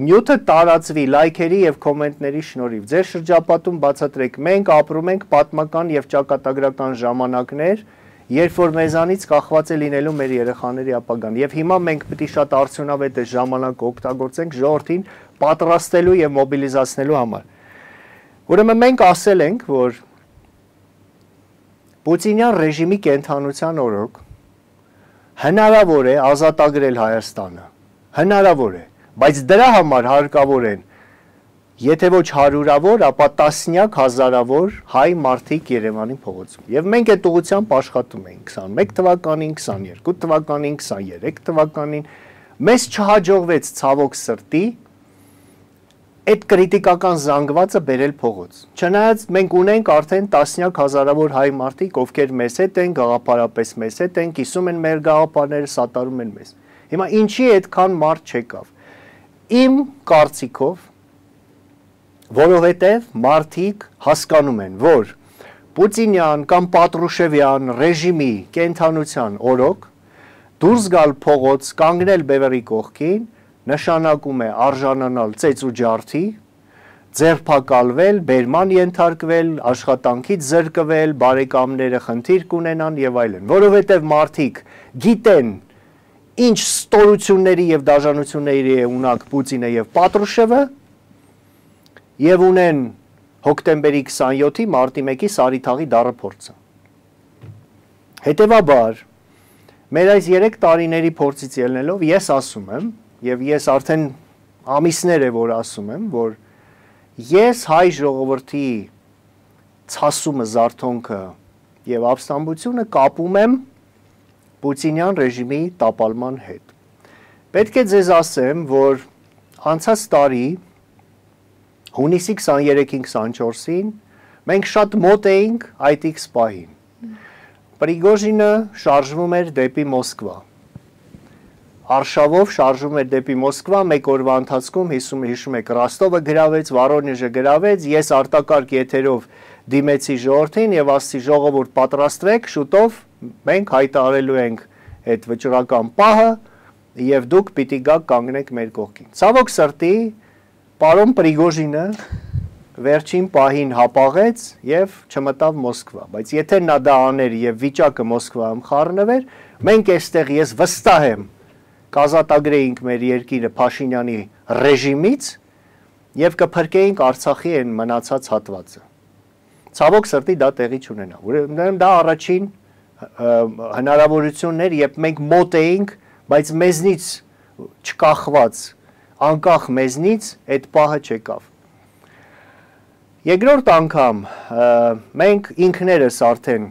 նյութը տարածվի լայքերի եւ կոմենտների շնորհիվ։ Ձեր շրջապատում բացատրեք, մենք ապրում ենք պատմական եւ ճակատագրական ժամանակներ, երբ որ մեզանից կախված է լինելու մեր երեխաների ապագան։ Եվ հիմա մենք պետք է շատ արդյունավետ է ժամանակը օգտագործենք ժողովրդին պատրաստելու եւ մոբիլիզացնելու համար։ Ուրեմն մենք ասել ենք, որ Պուտինյան ռեժիմի կենթանության օրոք հնարավոր է ազատագրել Հայաստանը։ Հնարավոր է, բայց դրա համար հարկավոր են եթե ոչ հարյուրավոր, ապա տասնյակ հազարավոր հայ մարդիկ Երևանի փողոցում։ Եվ մենք այդ ուղղությամբ աշխատում ենք 21 թվականին, 22 թվականին, 23 թվականին, մեզ չհաջողվեց ցավոք սրտի այդ կրիտիկական զանգվածը բերել փողոց։ Չնայած մենք ունենք արդեն տասնյակ հազարավոր հայ մարդիկ, ովքեր մեզ հետ են, գաղափարապես մեզ հետ են, կիսում են մեր գաղափարները, սատարում են մեզ։ Հիմա ինչի այդքան մարդ չեկավ։ Իմ կարծիքով, որովհետև մարդիկ հասկանում են, որ Պուտինյան կամ Պատրուշևյան ռեժիմի կենթանության օրոք դուրս գալ փողոց, կանգնել բևեռի կողքին, նշանակում է արժանանալ ծեծ ու ջարդի, ձերբակալվել, բերման ենթարկվել, աշխատանքից զրկվել, բարեկամները խնդիր կունենան եւ այլն, որովհետեւ մարդիկ գիտեն ինչ ստորությունների եւ դաժանությունների է ունակ Պուտինը եւ Պատրուշևը եւ ունեն հոկտեմբերի 27-ի մարտի 1-ի Սարիթաղի դառը փորձը։ Հետևաբար մեր այս 3 տարիների փորձից ելնելով ես ասում եմ եւ ես արդեն ամիսներ է որ ասում եմ, որ ես հայ ժողովրդի ցասումը, զարթոնքը եւ ապստամբությունը կապում եմ Պուտինյան ռեժիմի տապալման հետ։ Պետք է ձեզ ասեմ, որ անցած տարի հունիսի 23-ին 24-ին մենք շատ մոտ էինք այդ X պահին։ Պրիգոժինը շարժվում էր դեպի Մոսկվա։ Արշավով շարժվում էր դեպի Մոսկվա, մեկ օրվա ընթացքում հիշում եք Ռոստովը գրավեց, Վորոնեժը գրավեց, ես արտակարգ եթերով դիմեցի ժողովրդին եւ ասացի ժողովուրդ պատրաստվեք, շուտով մենք հայտարարելու ենք այդ վճռական պահը եւ դուք պիտի գաք կանգնեք մեր կողքին։ Ցավոք սրտի պարոն Պրիգոժինը վերջին պահին հապաղեց եւ չմտավ Մոսկվա, բայց եթե նա դա աներ եւ վիճակը Մոսկվայում խառնվեր, մենք այստեղ ես վստահ եմ կազատագրեինք մեր երկիրը Փաշինյանի ռեժիմից եւ կփրկեինք Արցախի այն մնացած հատվածը։ Ցավոք սրտի դա տեղի չունենա։ Ուրեմն դա առաջին հնարավորությունն էր, երբ մենք մոտ էինք, բայց մեզնից չկախված, անկախ մեզնից այդ պահը չեկավ։ Երկրորդ անգամ մենք ինքներս արդեն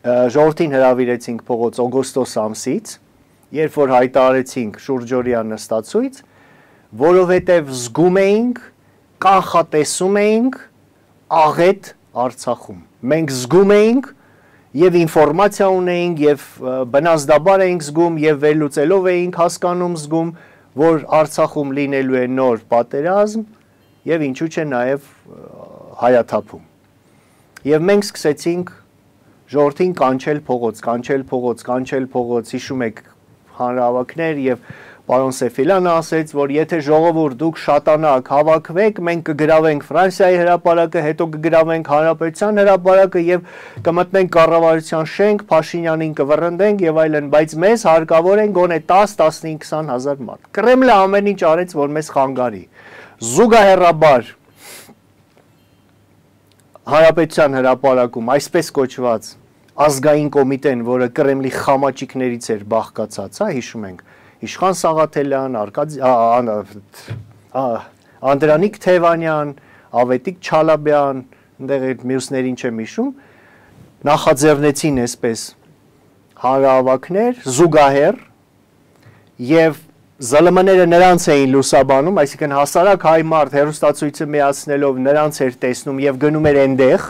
ժողովրդին հրավիրեցինք փողոց օգոստոս ամսից, երբ որ հայտարարեցինք շուրջօրյա նստածույց, որովհետև զգում էինք, կանխատեսում էինք աղետ Արցախում։ Մենք զգում էինք եւ ինֆորմացիա ունեինք եւ բնազդաբար էինք զգում եւ վերլուծելով էինք հասկանում զգում, որ Արցախում լինելու է նոր պատերազմ եւ ինչու՞ չէ նաեւ հայաթափում։ Եվ մենք սկսեցինք ժողովրդին կանչել փողոց, հիշում եք հանրահավաքներ եւ պարոն Սեֆիլյանը ասեց, որ եթե ժողովուրդ դուք շատանաք հավաքվեք, մենք կգրավենք Ֆրանսիայի հրապարակը, հետո կգրավենք Հանրապետության հրապարակը եւ կմտնենք կառավարության շենք, Փաշինյանին կվռնդենք եւ այլն, բայց մեզ հարկավոր են գոնե 10-15-20 հազար մարդ։ Կրեմլը ամեն ինչ արեց, որ մեզ խանգարի։ Զուգահեռաբար Հանրապետության հրապարակում այսպես կոչված ազգային կոմիտեն, որը Կրեմլի խամաճիկներից էր բաղկացած, հիշում ենք, Իշխան Սաղաթելյան, Անդրանիկ Թևանյան, Ավետիք Չալաբյան, այնտեղ այդ մյուսներին չեմ հիշում, նախաձեռնեցին այսպես հանրահավաքներ, զուգահեռ եւ ԶԼՄ-ները նրանց էին լուսաբանում, այսինքն հասարակ հայ մարդ հերոստացույցը միացնելով նրանց էր տեսնում եւ գնում էր այնտեղ,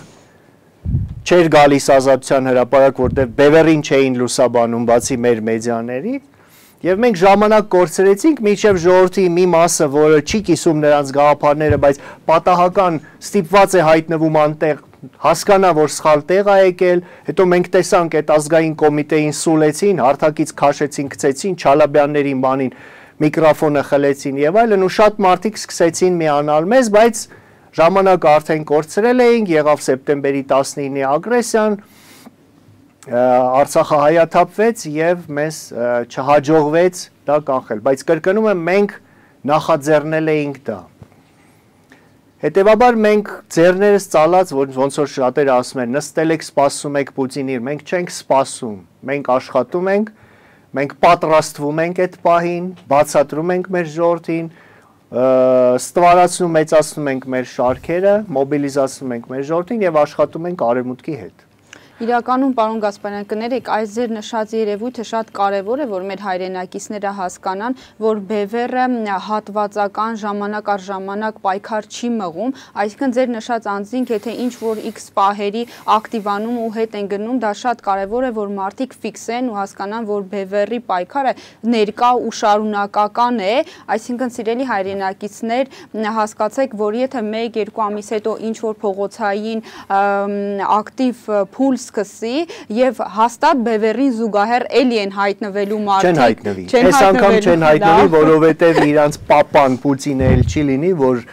չէր գալիս Ազատության հրապարակ, որտեղ բևեռին չէին լուսաբանում բացի մեր մեդիաների, եւ մենք ժամանակ կորցրեցինք, մինչեւ ժողովրդի մի մասը, որը չի կիսում նրանց գաղափարները, բայց պատահական ստիպված է հայտնվում անտեղ, հասկանա, որ սխալ տեղ է եկել, հետո մենք տեսանք այդ ազգային կոմիտեին սուլեցին, հարթակից քաշեցին, գցեցին, Չալաբյաններին բանին միկրոֆոնը խլեցին եւ այլն, ու շատ մարդիկ սկսեցին միանալ մեզ, բայց ժամանակը արդեն կորցրել էինք, եղավ սեպտեմբերի 19-ի ագրեսիան, Արցախը հայաթափվեց եւ մեզ չհաջողվեց դա կանխել, բայց կրկնում եմ, մենք նախաձեռնել էինք դա։ Հետևաբար մենք ձեռներս ծալած, ոնց որ շատերը ասում են, նստել եք սպասում եք Պուտինին, մենք չենք սպասում, մենք աշխատում ենք, մենք պատրաստվում ենք այդ պահին, բացատրում ենք մեր ժողովրդին, ստվարացնում, մեծացնում ենք մեր շարքերը, մոբիլիզացնում ենք մեր ժողովրդին եւ աշխատում ենք արևմուտքի հետ։ Իրականում, պարոն Գասպարյան, կներեք, այս ձեր նշած երևույթը շատ կարևոր է, որ մեր հայրենակիցները հասկանան, որ բևեռը հատվածական ժամանակ առ ժամանակ պայքար չի մղում, այսինքն ձեր նշած անձինք, եթե ինչ-որ X պահերի ակտիվանում ու հետ են գնում, դա շատ կարևոր է, որ մարդիկ ֆիքսեն ու հասկանան, որ բևեռի պայքարը ներկա ու շարունակական է, այսինքն սիրելի հայրենակիցներ, հասկացեք, որ եթե 1-2 ամիս հետո ինչ-որ փողոցային ակտիվ փուլ սկսի եւ հաստատ բևեռին զուգահեռ էլի են հայտնվելու մարդիկ չեն հայտնվի, այս անգամ չեն հայտնվի, որովհետեւ իրանց պապան Պուտինը էլ չի լինի, որ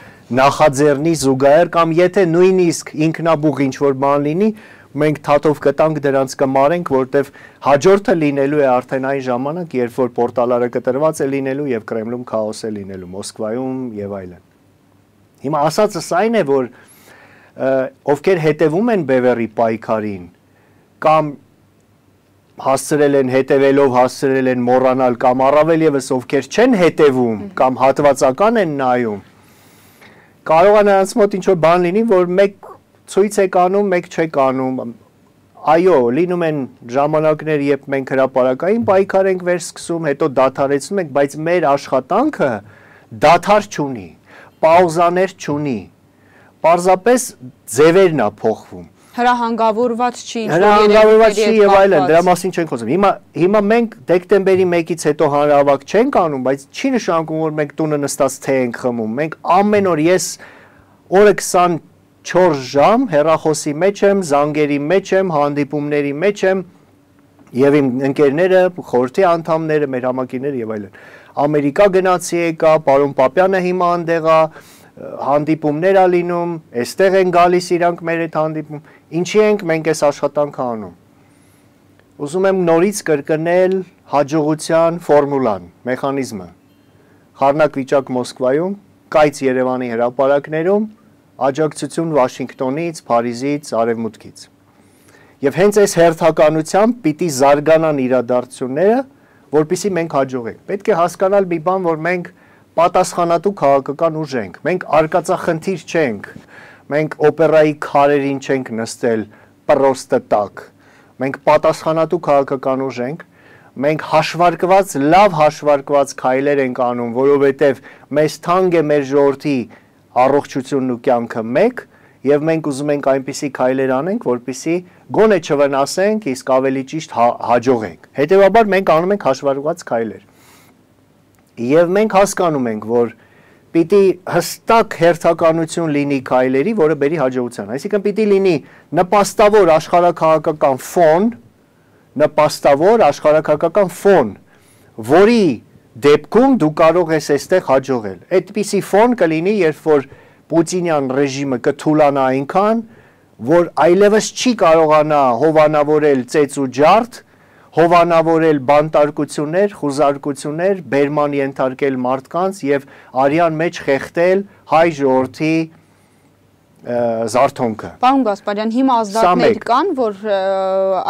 նախաձեռնի զուգահեռ կամ եթե նույնիսկ ինքնաբուխ ինչ-որ բան լինի, մենք թաթով կտանք դրանց կմարենք, որտեվ հաջորդը լինելու է արդեն այն ժամանակ, երբ որ պորտալարը կտրված է լինելու եւ Կրեմլում քաոս է լինելու, Մոսկվայում եւ այլն։ Հիմա ասածս այն է, որ ովքեր հետևում են բևեռի պայքարին կամ հասցրել են հետևելով հասցրել են մոռանալ կամ առավել եւս ովքեր չեն հետևում կամ հատվածական են նայում, կարող է նրանց մոտ ինչ-որ բան լինի, որ մեկ ցույց եք անում, մեկ չեք անում։ Այո, լինում են ժամանակներ, երբ մենք հրապարակային պայքար ենք վերսկսում, հետո դադարեցնում ենք, բայց մեր աշխատանքը դադար չունի, պաուզաներ չունի, պարզապես ձևերն է փոխվում։ Հրահանգավորված չի, հրահանգավորված չի եւ այլն, դրա մասին չենք խոսում։ Հիմա մենք դեկտեմբերի 1-ից հետո հանրահավաք չենք անում, բայց չի նշանակում, որ մենք տունը նստած թե ենք խմում։ Մենք ամեն օր ես օրը 24 ժամ հեռախոսի մեջ եմ, զանգերի մեջ եմ, հանդիպումների մեջ եմ եւ իմ ընկերները, խորհրդի անդամները, մեր համակիները եւ այլն։ Ամերիկա գնացի եկա, պարոն Պապյանը հիմա այնտեղ է, հանդիպումներ ա լինում, այստեղ են գալիս իրանք մեր հետ հանդիպում, ինչի ենք մենք այս աշխատանքը անում։ Ուզում եմ նորից կրկնել հաջողության ֆորմուլան, մեխանիզմը։ Խառնակ վիճակ Մոսկվայում, կայծ Երևանի հրապարակներում, աջակցություն Վաշինգտոնից, Փարիզից, Արևմուտքից։ Եվ հենց այս հերթականությամբ պիտի զարգանան իրադարձությունները, որպեսզի մենք հաջողենք։ Պետք է հասկանալ մի բան, որ մենք պատասխանատու քաղաքական ուժ ենք, մենք արկածախնդիր չենք, մենք օպերայի քարերին չենք նստել պրոստը տակ, մենք պատասխանատու քաղաքական ուժ ենք, մենք հաշվարկված, լավ հաշվարկված քայլեր ենք անում, որովհետև մեզ թանկ է մեր ժողովրդի առողջությունն ու կյանքը մեկ, եւ մենք ուզում ենք այնպիսի քայլեր անենք, որպեսզի գոնե չվնասենք, իսկ ավելի ճիշտ հաջողենք։ Հետևաբար մենք անում ենք հաշվարկված քայլեր։ Եվ մենք հասկանում ենք, որ պիտի հստակ հերթականություն լինի քայլերի, որը բերի հաջողության։ Այսինքն պիտի լինի նպաստավոր աշխարհաքաղաքական ֆոն, որի դեպքում դու կարող ես այստեղ հաջողել։ Այդպիսի ֆոն կլինի, երբ որ Պուտինյան ռեժիմը կթուլանա այնքան, որ այլևս չի կարողանա հովանավորել ծեծ ու ջարդ, հովանավորել բանտարկություններ, խուզարկություններ, բերման ենթարկել մարդկանց եւ արյան մեջ խեղդել հայ ժողովրդի զարթոնքը։ Պարոն Գասպարյան, հիմա ազդակներ կան, որ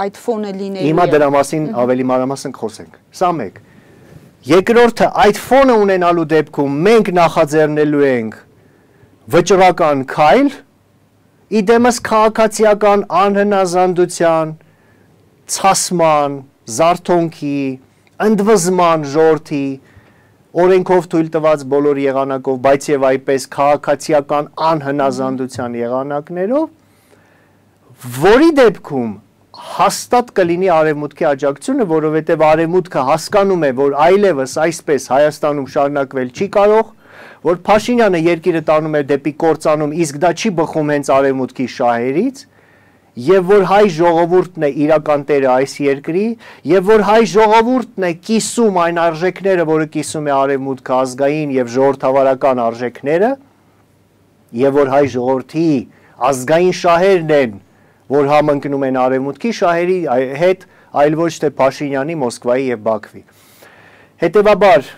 այդ ֆոնը լինելու է։ Հիմա դրա մասին ավելի մանրամասն կխոսենք։ Սա մեկ։ Երկրորդը, այդ ֆոնը ունենալու դեպքում մենք նախաձեռնելու ենք վճռական քայլ, իդեմս քաղաքացիական անհնազանդության, ցասման, զարթոնքի, ընդվզման ժողովրդի, օրենքով թույլ տված բոլոր եղանակով, բայց եւ այպես քաղաքացիական անհնազանդության եղանակներով, որի դեպքում հաստատ կլինի արևմուտքի աջակցությունը, որովհետև արևմուտքը հասկանում է, որ այլևս այսպես Հայաստանում շարունակվել չի կարող, որ Փաշինյանը երկիրը տանում է դեպի կործանում, իսկ դա չի բխում հենց արևմուտքի շահերից, եւ որ հայ ժողովուրդն է իրական տերը այս երկրի, եւ որ հայ ժողովուրդն է կիսում այն արժեքները, որը կիսում է արևմուտքը ազգային եւ ժողովրդավարական արժեքները, եւ որ հայ ժողովրդի ազգային շահերն են, որ համընկնում են արևմուտքի շահերի հետ, այլ ոչ թե Փաշինյանի, Մոսկվայի եւ Բաքվի։ Հետևաբար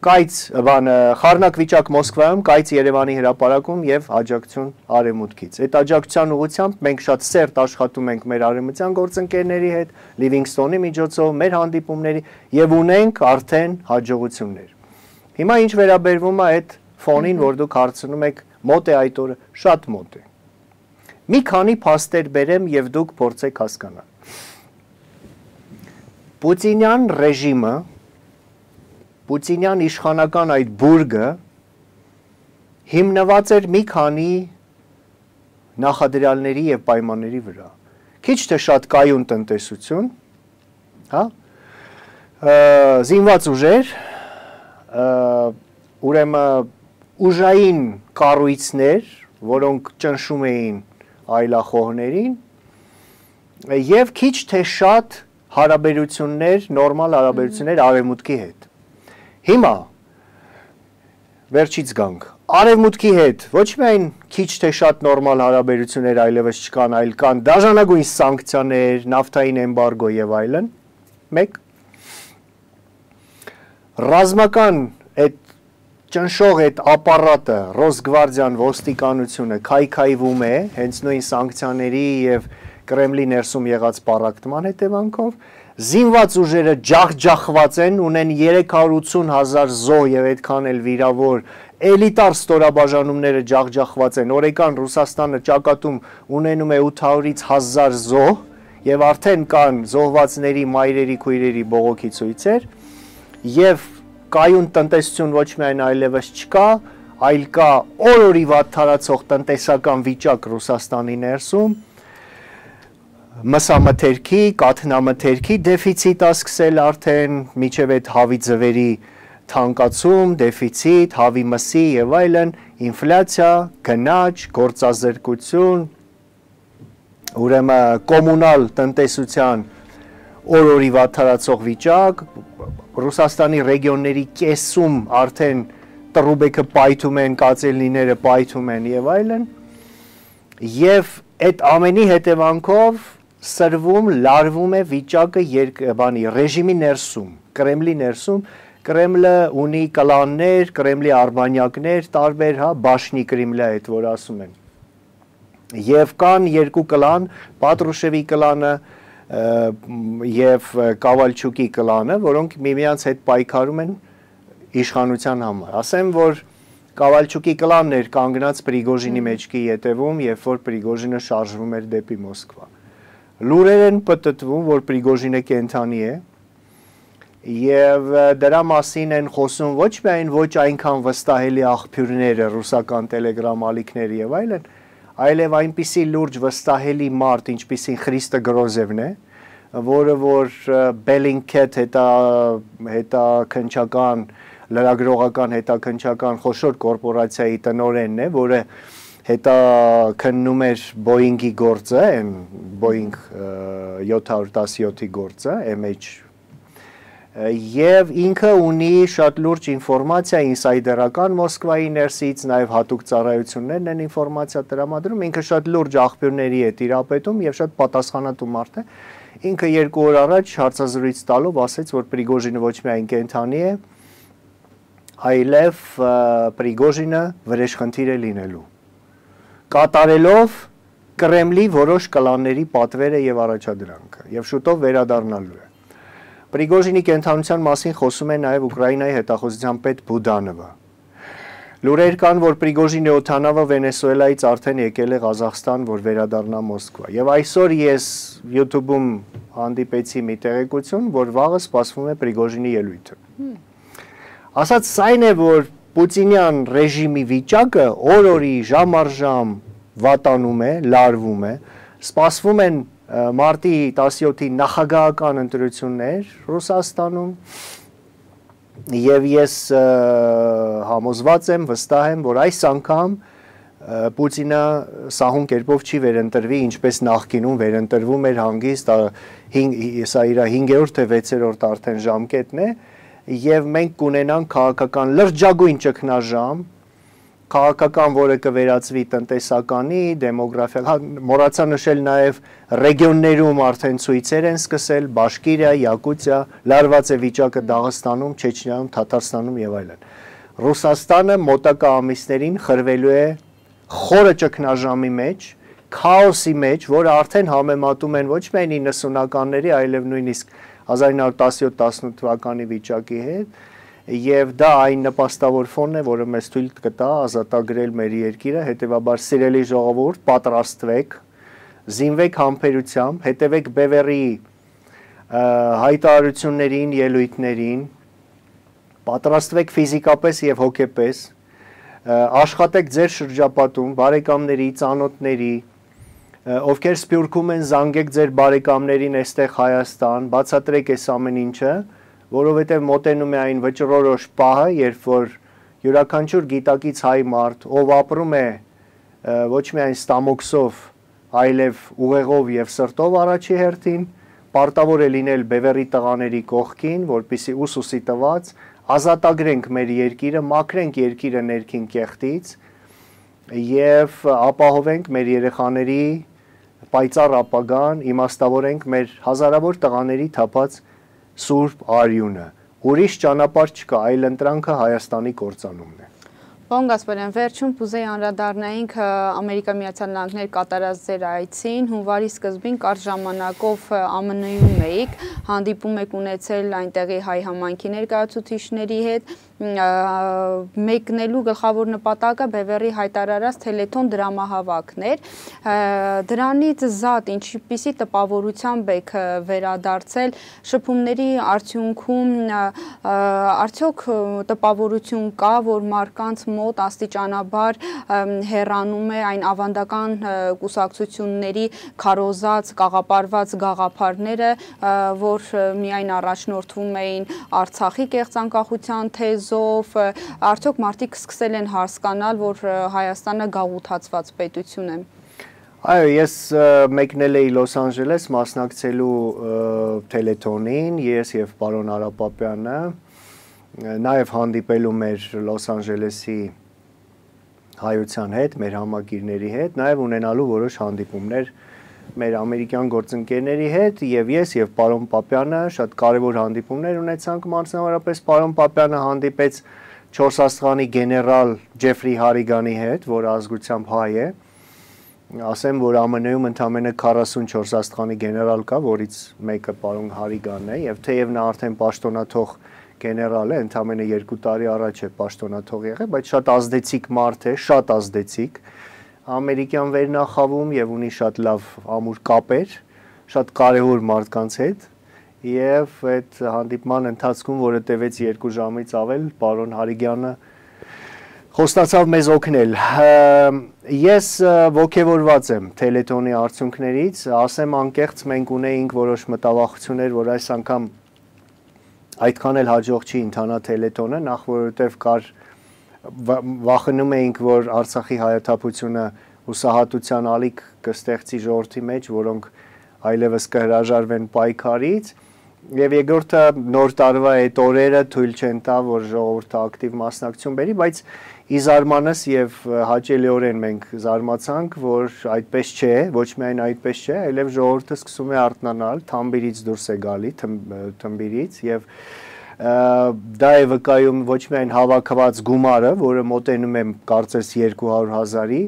խառնակ վիճակ Մոսկվայում, կայծ Երևանի հրապարակում եւ աջակցություն արևմուտքից։ Այդ աջակցության ուղղությամբ մենք շատ սերտ աշխատում ենք մեր արևմտյան գործընկերների հետ, Լիվինգստոնի միջոցով, մեր հանդիպումների եւ ունենք արդեն հաջողություններ։ Հիմա ինչ վերաբերվում է այդ ֆոնին, որ դուք հարցնում եք, մոտ է այդ օրը, շատ մոտ է։ Մի քանի փաստեր բերեմ եւ դուք փորձեք հասկանալ։ Պուտինյան ռեժիմը, Պուտինյան իշխանական այդ բուրգը հիմնված էր մի քանի նախադրյալների եւ պայմանների վրա։ Քիչ թե շատ կայուն տնտեսություն, հա? Զինված ուժեր, ուրեմն ուժային կառույցներ, որոնք ճնշում էին այլախոհներին, եւ քիչ թե շատ հարաբերություններ, նորմալ հարաբերություններ արևմուտքի հետ։ Հիմա վերջից գանք, արևմուտքի հետ ոչ միայն քիչ թե շատ նորմալ հարաբերություններ այլևս չկան, այլ կան դաժանագույն սանկցիաներ, նավթային էմբարգո եւ այլն, մեկ ռազմական այդ ճնշող այդ ապարատը, Ռոսգվարդիան, ոստիկանությունը քայքայվում է հենց նույն սանկցիաների եւ Կրեմլի ներսում եղած պառակտման հետևանքով, զինված ուժերը ջախջախված են, ունեն 380,000 զոհ եւ այդքան էլ վիրավոր, էլիտար ստորաբաժանումները ջախջախված են, օրեկան Ռուսաստանը ճակատում ունենում է 800-ից 1000 զոհ եւ արդեն կան զոհվածների, մայրերի, քույրերի բողոքի ցույցեր եւ կայուն տնտեսություն ոչ միայն այլևս չկա, այլ կա օր-օրի վատթարացող տնտեսական վիճակ Ռուսաստանի ներսում, մսամթերքի, կաթնամթերքի դեֆիցիտ սկսել արդեն, միջև այդ հավի ձվերի թանկացում, դեֆիցիտ, հավի մսի եւ այլն, ինֆլյացիա, գնաճ, գործազրկություն, ուրեմն կոմունալ տնտեսության օր-օրի վատթարացող վիճակ, Ռուսաստանի ռեգիոնների կեսում արդեն տրուբեկը պայթում են, կացելիները պայթում են եւ այլն, եւ այդ ամենի հետևանքով սրվում, լարվում է վիճակը ռեժիմի ներսում, Կրեմլի ներսում, Կրեմլը ունի կլաններ, Կրեմլի արբանյակներ, տարբեր, հա, Բաշնի Կրեմլը այդ որ ասում են։ Եվ կան երկու կլան, Պատրուշևի կլանը եւ Կավալչուկի կլանը, որոնք միմյանց հետ պայքարում են իշխանության համար։ Ասեմ, որ Կավալչուկի կլանն էր կանգնած Պրիգոժինի մեջքի ետևում, երբ որ Պրիգոժինը շարժվում էր դեպի Մոսկվա։ Լուրեր են պտտվում, որ Պրիգոժինը կենթանի է, եւ դրա մասին են խոսում ոչ միայն ոչ այնքան վստահելի աղբյուրները, ռուսական տելեգրամ ալիքները եւ այլն, այլև այնպիսի լուրջ վստահելի մարդ, ինչպիսին Խրիստո Գրոզևն է, որը որ Bellingcat հետաքննչական, լրագրողական հետաքննչական խոշոր կորպորացիայի տնօրենն է, որը հետաքննում էր Boeing-ի գործը, Boeing 717-ի գործը, MH, եւ ինքը ունի շատ լուրջ ինֆորմացիա ինսայդերական Մոսկվայի ներսից, նաեւ հատուկ ծառայություններն են ինֆորմացիա տրամադրում, ինքը շատ լուրջ աղբյուրների է տիրապետում եւ շատ պատասխանատու մարդ է։ Ինքը 2 օր առաջ հարցազրույց տալով ասաց, որ Պրիգոժինը ոչ միայն կենթանի է, այլև Պրիգոժինը վրեժխնդիր է լինելու, կատարելով Կրեմլի որոշ կլանների պատվերը եւ առաջադրանքը եւ շուտով վերադառնալու է։ Պրիգոժինի կենթանության մասին խոսում է նաև Ուկրաինայի հետախուզության պետ Բուդանովը։ Լուրեր կան, որ Պրիգոժինի օդանավը Վենեսուելայից արդեն եկել է Ղազախստան, որ վերադառնա Մոսկվա։ Եվ այսօր ես YouTube-ում հանդիպեցի մի տեղեկություն, որ վաղը սպասվում է Պրիգոժինի ելույթը։ Ասած այն է, որ Պուտինյան ռեժիմի վիճակը օր-օրի, ժամ առ ժամ վատանում է, լարվում է, սպասվում են մարտի 17-ի նախագահական ընտրություններ Ռուսաստանում եւ ես համոզված եմ, վստահ եմ, որ այս անգամ Պուտինը սահուն կերպով չի վերընտրվի, ինչպես նախկինում վերընտրվում էր հանգիստ, սա իր 5-րդ թե 6-րդ արդեն ժամկետն է, եւ մենք կունենանք քաղաքական լրջագույն ճգնաժամ, քաղաքական, որը կվերածվի տնտեսականի, դեմոգրաֆիական, մոռացա նշել նաեւ ռեգիոններում արդեն ցույցեր են սկսել, Բաշկիրիա, Յակուտիա, լարված է վիճակը Դաղստանում, Չեչնիայում, Թաթարստանում եւ այլն։ Ռուսաստանը մոտակա ամիսներին խրվելու է խորը ճգնաժամի մեջ, քաոսի մեջ, որը արդեն համեմատում են ոչ միայն 90-ականների, այլև նույնիսկ 1917-18 թվականի վիճակի հետ, եւ դա այն նպաստավոր ֆոնն է, որը մեզ թույլ կտա ազատագրել մեր երկիրը, հետեւաբար սիրելի ժողովուրդ, պատրաստվեք, զինվեք համբերությամբ, հետևեք Բևերի հայտարարություններին, ելույթներին, պատրաստվեք ֆիզիկապես եւ հոգեպես, աշխատեք ձեր շրջապատում, բարեկամների, ծանոթների, ովքեր Սփյուռքում են, զանգեք ձեր բարեկամներին այստեղ Հայաստան, բացատրեք այս ամեն ինչը, որովհետև մոտենում է այն վճռորոշ պահը, երբ որ յուրաքանչյուր գիտակից հայ մարդ, ով ապրում է ոչ միայն ստամոքսով, այլև ուղեղով եւ սրտով առաջի հերթին, պարտավոր է լինել Բևերի տղաների կողքին, որպիսի ուսուսի տված ազատագրենք մեր երկիրը, մաքրենք երկիրը ներքին կեղտից եւ ապահովենք մեր երեխաների պայծառ ապագան, իմաստավորենք մեր հազարավոր տղաների թափած սուրբ արյունը։ Ուրիշ ճանապարհ չկա, այլ ընտրանքը Հայաստանի կործանումն է։ Պարոն Գասպարյան, վերջում կուզեի անդրադառնայինք Ամերիկա Միացյալ Նահանգներ կատարած ձեր այցին, հունվարի սկզբին կարճ ժամանակով ԱՄՆ-ում էիք, հանդիպում եք ունեցել այնտեղի հայ համայնքի ներկայացուցիչների հետ, մեկնելու գլխավոր նպատակը Բևերի հայտարարած Թելեթոն դրամահավաքն էր, դրանից զատ ինչպիսի տպավորությամբ եք վերադարձել շփումների արդյունքում, արդյոք տպավորություն կա, որ մարդկանց մոտ աստիճանաբար հեռանում է այն ավանդական կուսակցությունների քարոզած, կաղապարված գաղափարները, որ միայն առաջնորդվում էին Արցախի կեղծանկախության թեզով, արդյոք մարդիկ սկսել են հասկանալ, որ Հայաստանը գաղութացված պետություն է։ Այո, ես մեկնել էի Լոս Անջելես մասնակցելու Թելեթոնին, ես եւ պարոն Արապապյանը, նաև հանդիպելու մեր Լոս Անջելեսի հայության հետ, մեր համագիրների հետ, նաև ունենալու որոշ հանդիպումներ մեր ամերիկյան գործընկերների հետ եւ ես եւ պարոն Պապյանը շատ կարեւոր հանդիպումներ ունեցանք, մասնավորապես պարոն Պապյանը հանդիպեց 4 աստղանի գեներալ Ջեֆրի Հարիգանի հետ, որ ազգությամբ հայ է, ասեմ, որ ԱՄՆ-ում ընդամենը 44 աստղանի գեներալ կա, որից մեկը պարոն Հարիգանն է եւ թեև նա արդեն պաշտոնաթող գեներալ է, ընդամենը 2 տարի առաջ է պաշտոնաթող եղել, բայց շատ ազդեցիկ մարդ է, շատ ազդեցիկ, ամերիկյան վերնախավում եւ ունի շատ լավ ամուր կապեր, շատ կարեւոր մարդկանց հետ եւ այդ հանդիպման ընթացքում, որը տևեց 2 ժամից ավել, պարոն Հարիգյանը խոստացավ մեզ օգնել։ Ես ողջավորված եմ Թելեթոնի արդյունքներից, ասեմ անկեղծ, մենք ունեինք որոշ մտավախություններ, որ այս անգամ այդքան էլ հաջող չի ընթանա Թելեթոնը, նախ որովհետև կար վախենում էինք, որ Արցախի հայաթափությունը հուսահատության ալիք կստեղծի ժողովրդի մեջ, որոնք այլևս կհրաժարվեն պայքարից, եւ երկրորդը նոր տարվա այդ օրերը թույլ չեն տա, որ ժողովուրդը ակտիվ մասնակցություն բերի, բայց ի զարմանս եւ հաճելիորեն մենք զարմացանք, որ այդպես չէ, ոչ միայն այդպես չէ, այլև ժողովուրդը սկսում է արթնանալ, թամբիրից դուրս է գալի, թմբիրից եւ դա է վկայում ոչ միայն հավաքված գումարը, որը մոտենում է կարծես 200,000-ի,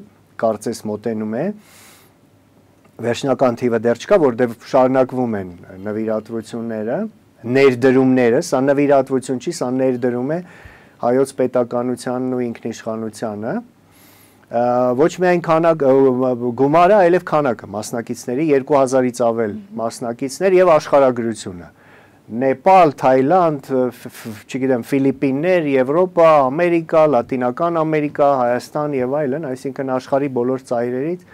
կարծես մոտենում է, վերջնական թիվը դեռ չկա, որտեղ շարունակվում են նվիրատվությունները, ներդրումները, սա նվիրատվություն չի, սա ներդրում է հայոց պետականությանն ու ինքնիշխանությանը, ոչ միայն գումարը, այլև քանակը մասնակիցների, 2000-ից ավել մասնակիցներ եւ աշխարհագրությունը։ Նեպալ, Թայլանդ, չգիտեմ, Ֆիլիպիններ, Եվրոպա, Ամերիկա, Լատինական Ամերիկա, Հայաստան եւ այլն, այսինքն աշխարհի բոլոր ծայրերից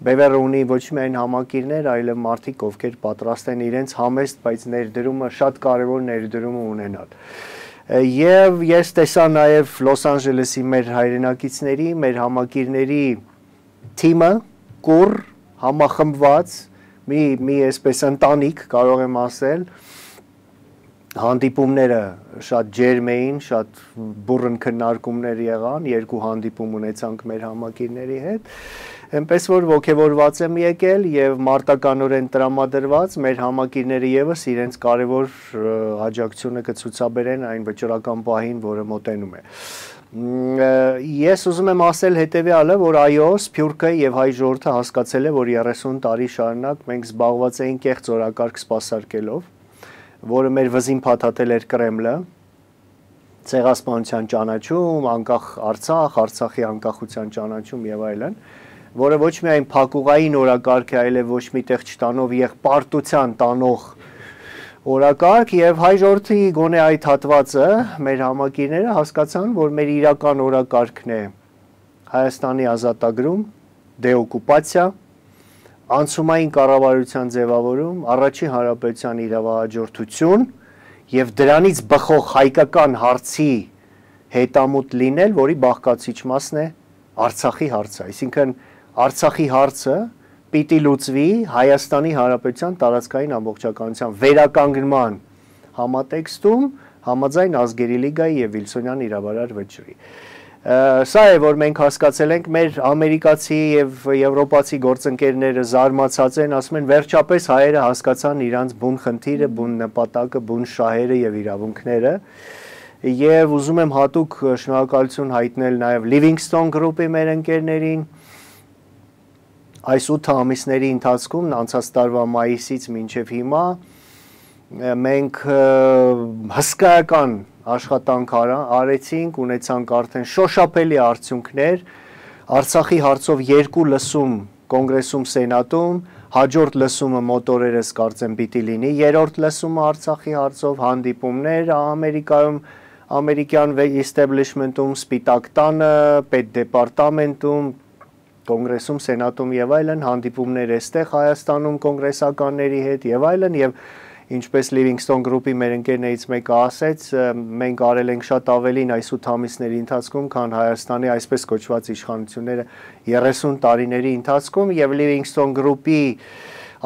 Բևերը ունի ոչ միայն համակիրներ, այլև մարդիկ, ովքեր պատրաստ են իրենց համեստ, բայց ներդրումը շատ կարևոր ներդրումը ունենալ։ Եվ ես տեսա նաեւ Լոս Անջելեսի մեր հայրենակիցների, մեր համակիրների թիմը, կուռ, համախմբված, մի այսպես ընտանիք, կարող եմ ասել, հանդիպումները շատ ջերմ էին, շատ բուռն քննարկումներ եղան, 2 հանդիպում ունեցանք մեր համակիրների հետ, այնպես որ ոգևորված եմ եկել եւ մարտականորեն տրամադրված մեր համակիրները եւս իրենց կարևոր աջակցությունը կցուցաբերեն այն վճռական պահին, որը մոտենում է։ Ես ուզում եմ ասել հետեւյալը, որ այո, Սփյուռքը եւ հայ ժողովուրդը հասկացել է, որ 30 տարի շարունակ մենք զբաղված էինք կեղծ օրակարգ սպասարկելով, որը մեր վզին փաթաթել էր Կրեմլը, ցեղասպանության ճանաչում, անկախ Արցախ, Արցախի անկախության ճանաչում եւ այլն, որը ոչ միայն փակուղային օրակարգ է, այլև ոչ միտեղ չտանող եղբարտության տանող օրակարգ եւ հայ ժողովրդի գոնե այդ հատվածը մեր համակիրները հասկացան, որ մեր իրական օրակարգն է Հայաստանի ազատագրում, դեօկուպացիա, անցումային կառավարության ձևավորում, առաջին հանրապետության իրավահաջորդություն եւ դրանից բխող հայկական հարցի հետամուտ լինել, որի բաղկացիչ մասն է Արցախի հարցը, այսինքն Արցախի հարցը պիտի լուծվի Հայաստանի Հանրապետության տարածքային ամբողջականության վերականգնման համատեքստում համաձայն ազգերի լիգայի եւ Վիլսոնյան իրավարար վճռի։ Սա է, որ մենք հասկացել ենք, մեր ամերիկացի եւ եվրոպացի գործընկերները զարմացած են, ասում են վերջապես հայերը հասկացան իրանց բուն խնդիրը, բուն նպատակը, բուն շահերը եւ իրավունքները։ Եվ ուզում եմ հատուկ շնորհակալություն հայտնել նաեւ Livingston Group-ի մեր ընկերներին։ Այս 8 ամիսների ընթացքում, անցած տարվա մայիսից մինչև հիմա, մենք հսկայական աշխատանք արեցինք, ունեցանք արդեն շոշափելի արդյունքներ, Արցախի հարցով 2 լսում կոնգրեսում, սենատում, հաջորդ լսումը մոտորերս կարծեմ պիտի լինի, երրորդ լսումը Արցախի հարցով, հանդիպումներ Ամերիկայում, ամերիկյան establishment-ում, Սպիտակ տանը, պետդեպարտամենտում, կոնգրեսում, սենատում եւ այլն, հանդիպումներ այստեղ Հայաստանում կոնգրեսականների հետ եւ այլն, եւ ինչպես Livingston Group-ի մեր ընկերներից մեկը ասեց, մենք արել ենք շատ ավելին այս 8 ամիսների ընթացքում, քան Հայաստանի այսպես կոչված իշխանությունները 30 տարիների ընթացքում, եւ Livingston Group-ի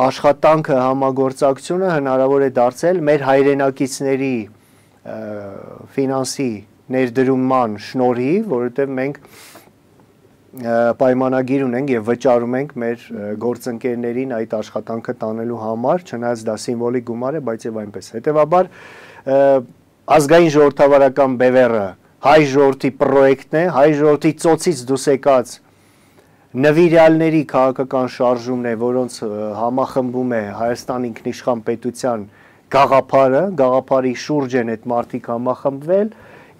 աշխատանքը, համագործակցությունը հնարավոր է դարձել մեր հայրենակիցների ֆինանսի ներդրումման շնորհիվ, որովհետեւ մենք պայմանագիր ունենք եւ վճարում ենք մեր գործընկերներին այդ աշխատանքը տանելու համար, չնայած դա սիմվոլիկ գումար է, բայց եւ այնպես։ Հետեւաբար ազգային ժողովրդավարական բևեռը հայ ժողովրդի պրոյեկտն է, հայ ժողովրդի ծոցից դուրս եկած նվիրյալների քաղաքական շարժումն է, որոնց համախմբում է Հայաստան ինքնիշխան պետության գաղափարի շուրջ են այդ մարդիկ համախմբվել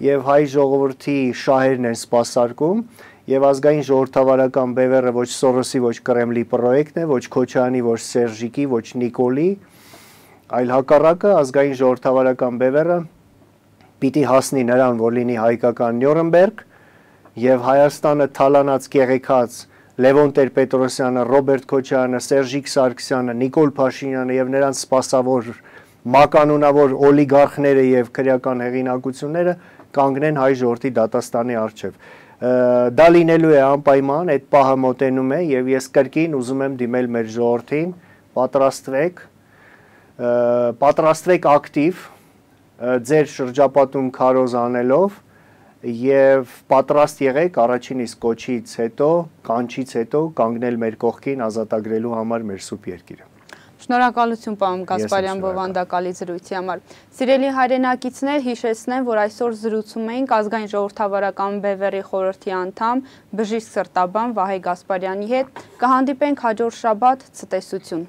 եւ հայ ժողովրդի շահերն են սպասարկում եւ ազգային ժողովրդավարական բևեռը ոչ Սորոսի, ոչ Կրեմլի պրոյեկտն է, ոչ Քոչարյանի, ոչ Սերժիկի, ոչ Նիկոլի, այլ հակառակը ազգային ժողովրդավարական բևեռը պիտի հասնի նրան, որ լինի հայկական Նյուրնբերգ եւ Հայաստանը թալանած կեղեքած Լևոն Տեր-Պետրոսյանը, Ռոբերտ Քոչարյանը, Սերժիկ Սարգսյանը, Նիկոլ Փաշինյանը եւ նրանց սպասավոր մականունավոր օլիգարխները եւ քրեական հեղինակությունները կանգնեն հայ ժողովրդի դատաստանի առջեւ։ Դա լինելու է անպայման, այդ պահը մոտենում է եւ ես կրկին ուզում եմ դիմել մեր ժողովրդին, պատրաստվեք ակտիվ ձեր շրջապատում քարոզ անելով եւ պատրաստ եղեք առաջին իսկ կոչից հետո, կանչից հետո կանգնել մեր կողքին ազատագրելու համար մեր սուրբ երկիրը։ Շնորհակալություն պարոն Գասպարյան բովանդակալի զրույցի համար։ Սիրելի հայրենակիցներ, հիշեցնեմ, որ այսօր զրուցում էինք ազգային ժողովրդավարական բևեռի խորհրդի անդամ բժիշկ սրտաբան Վահե Գասպարյանի հետ։ Կհանդիպենք հաջորդ շաբաթ, ցտեսություն։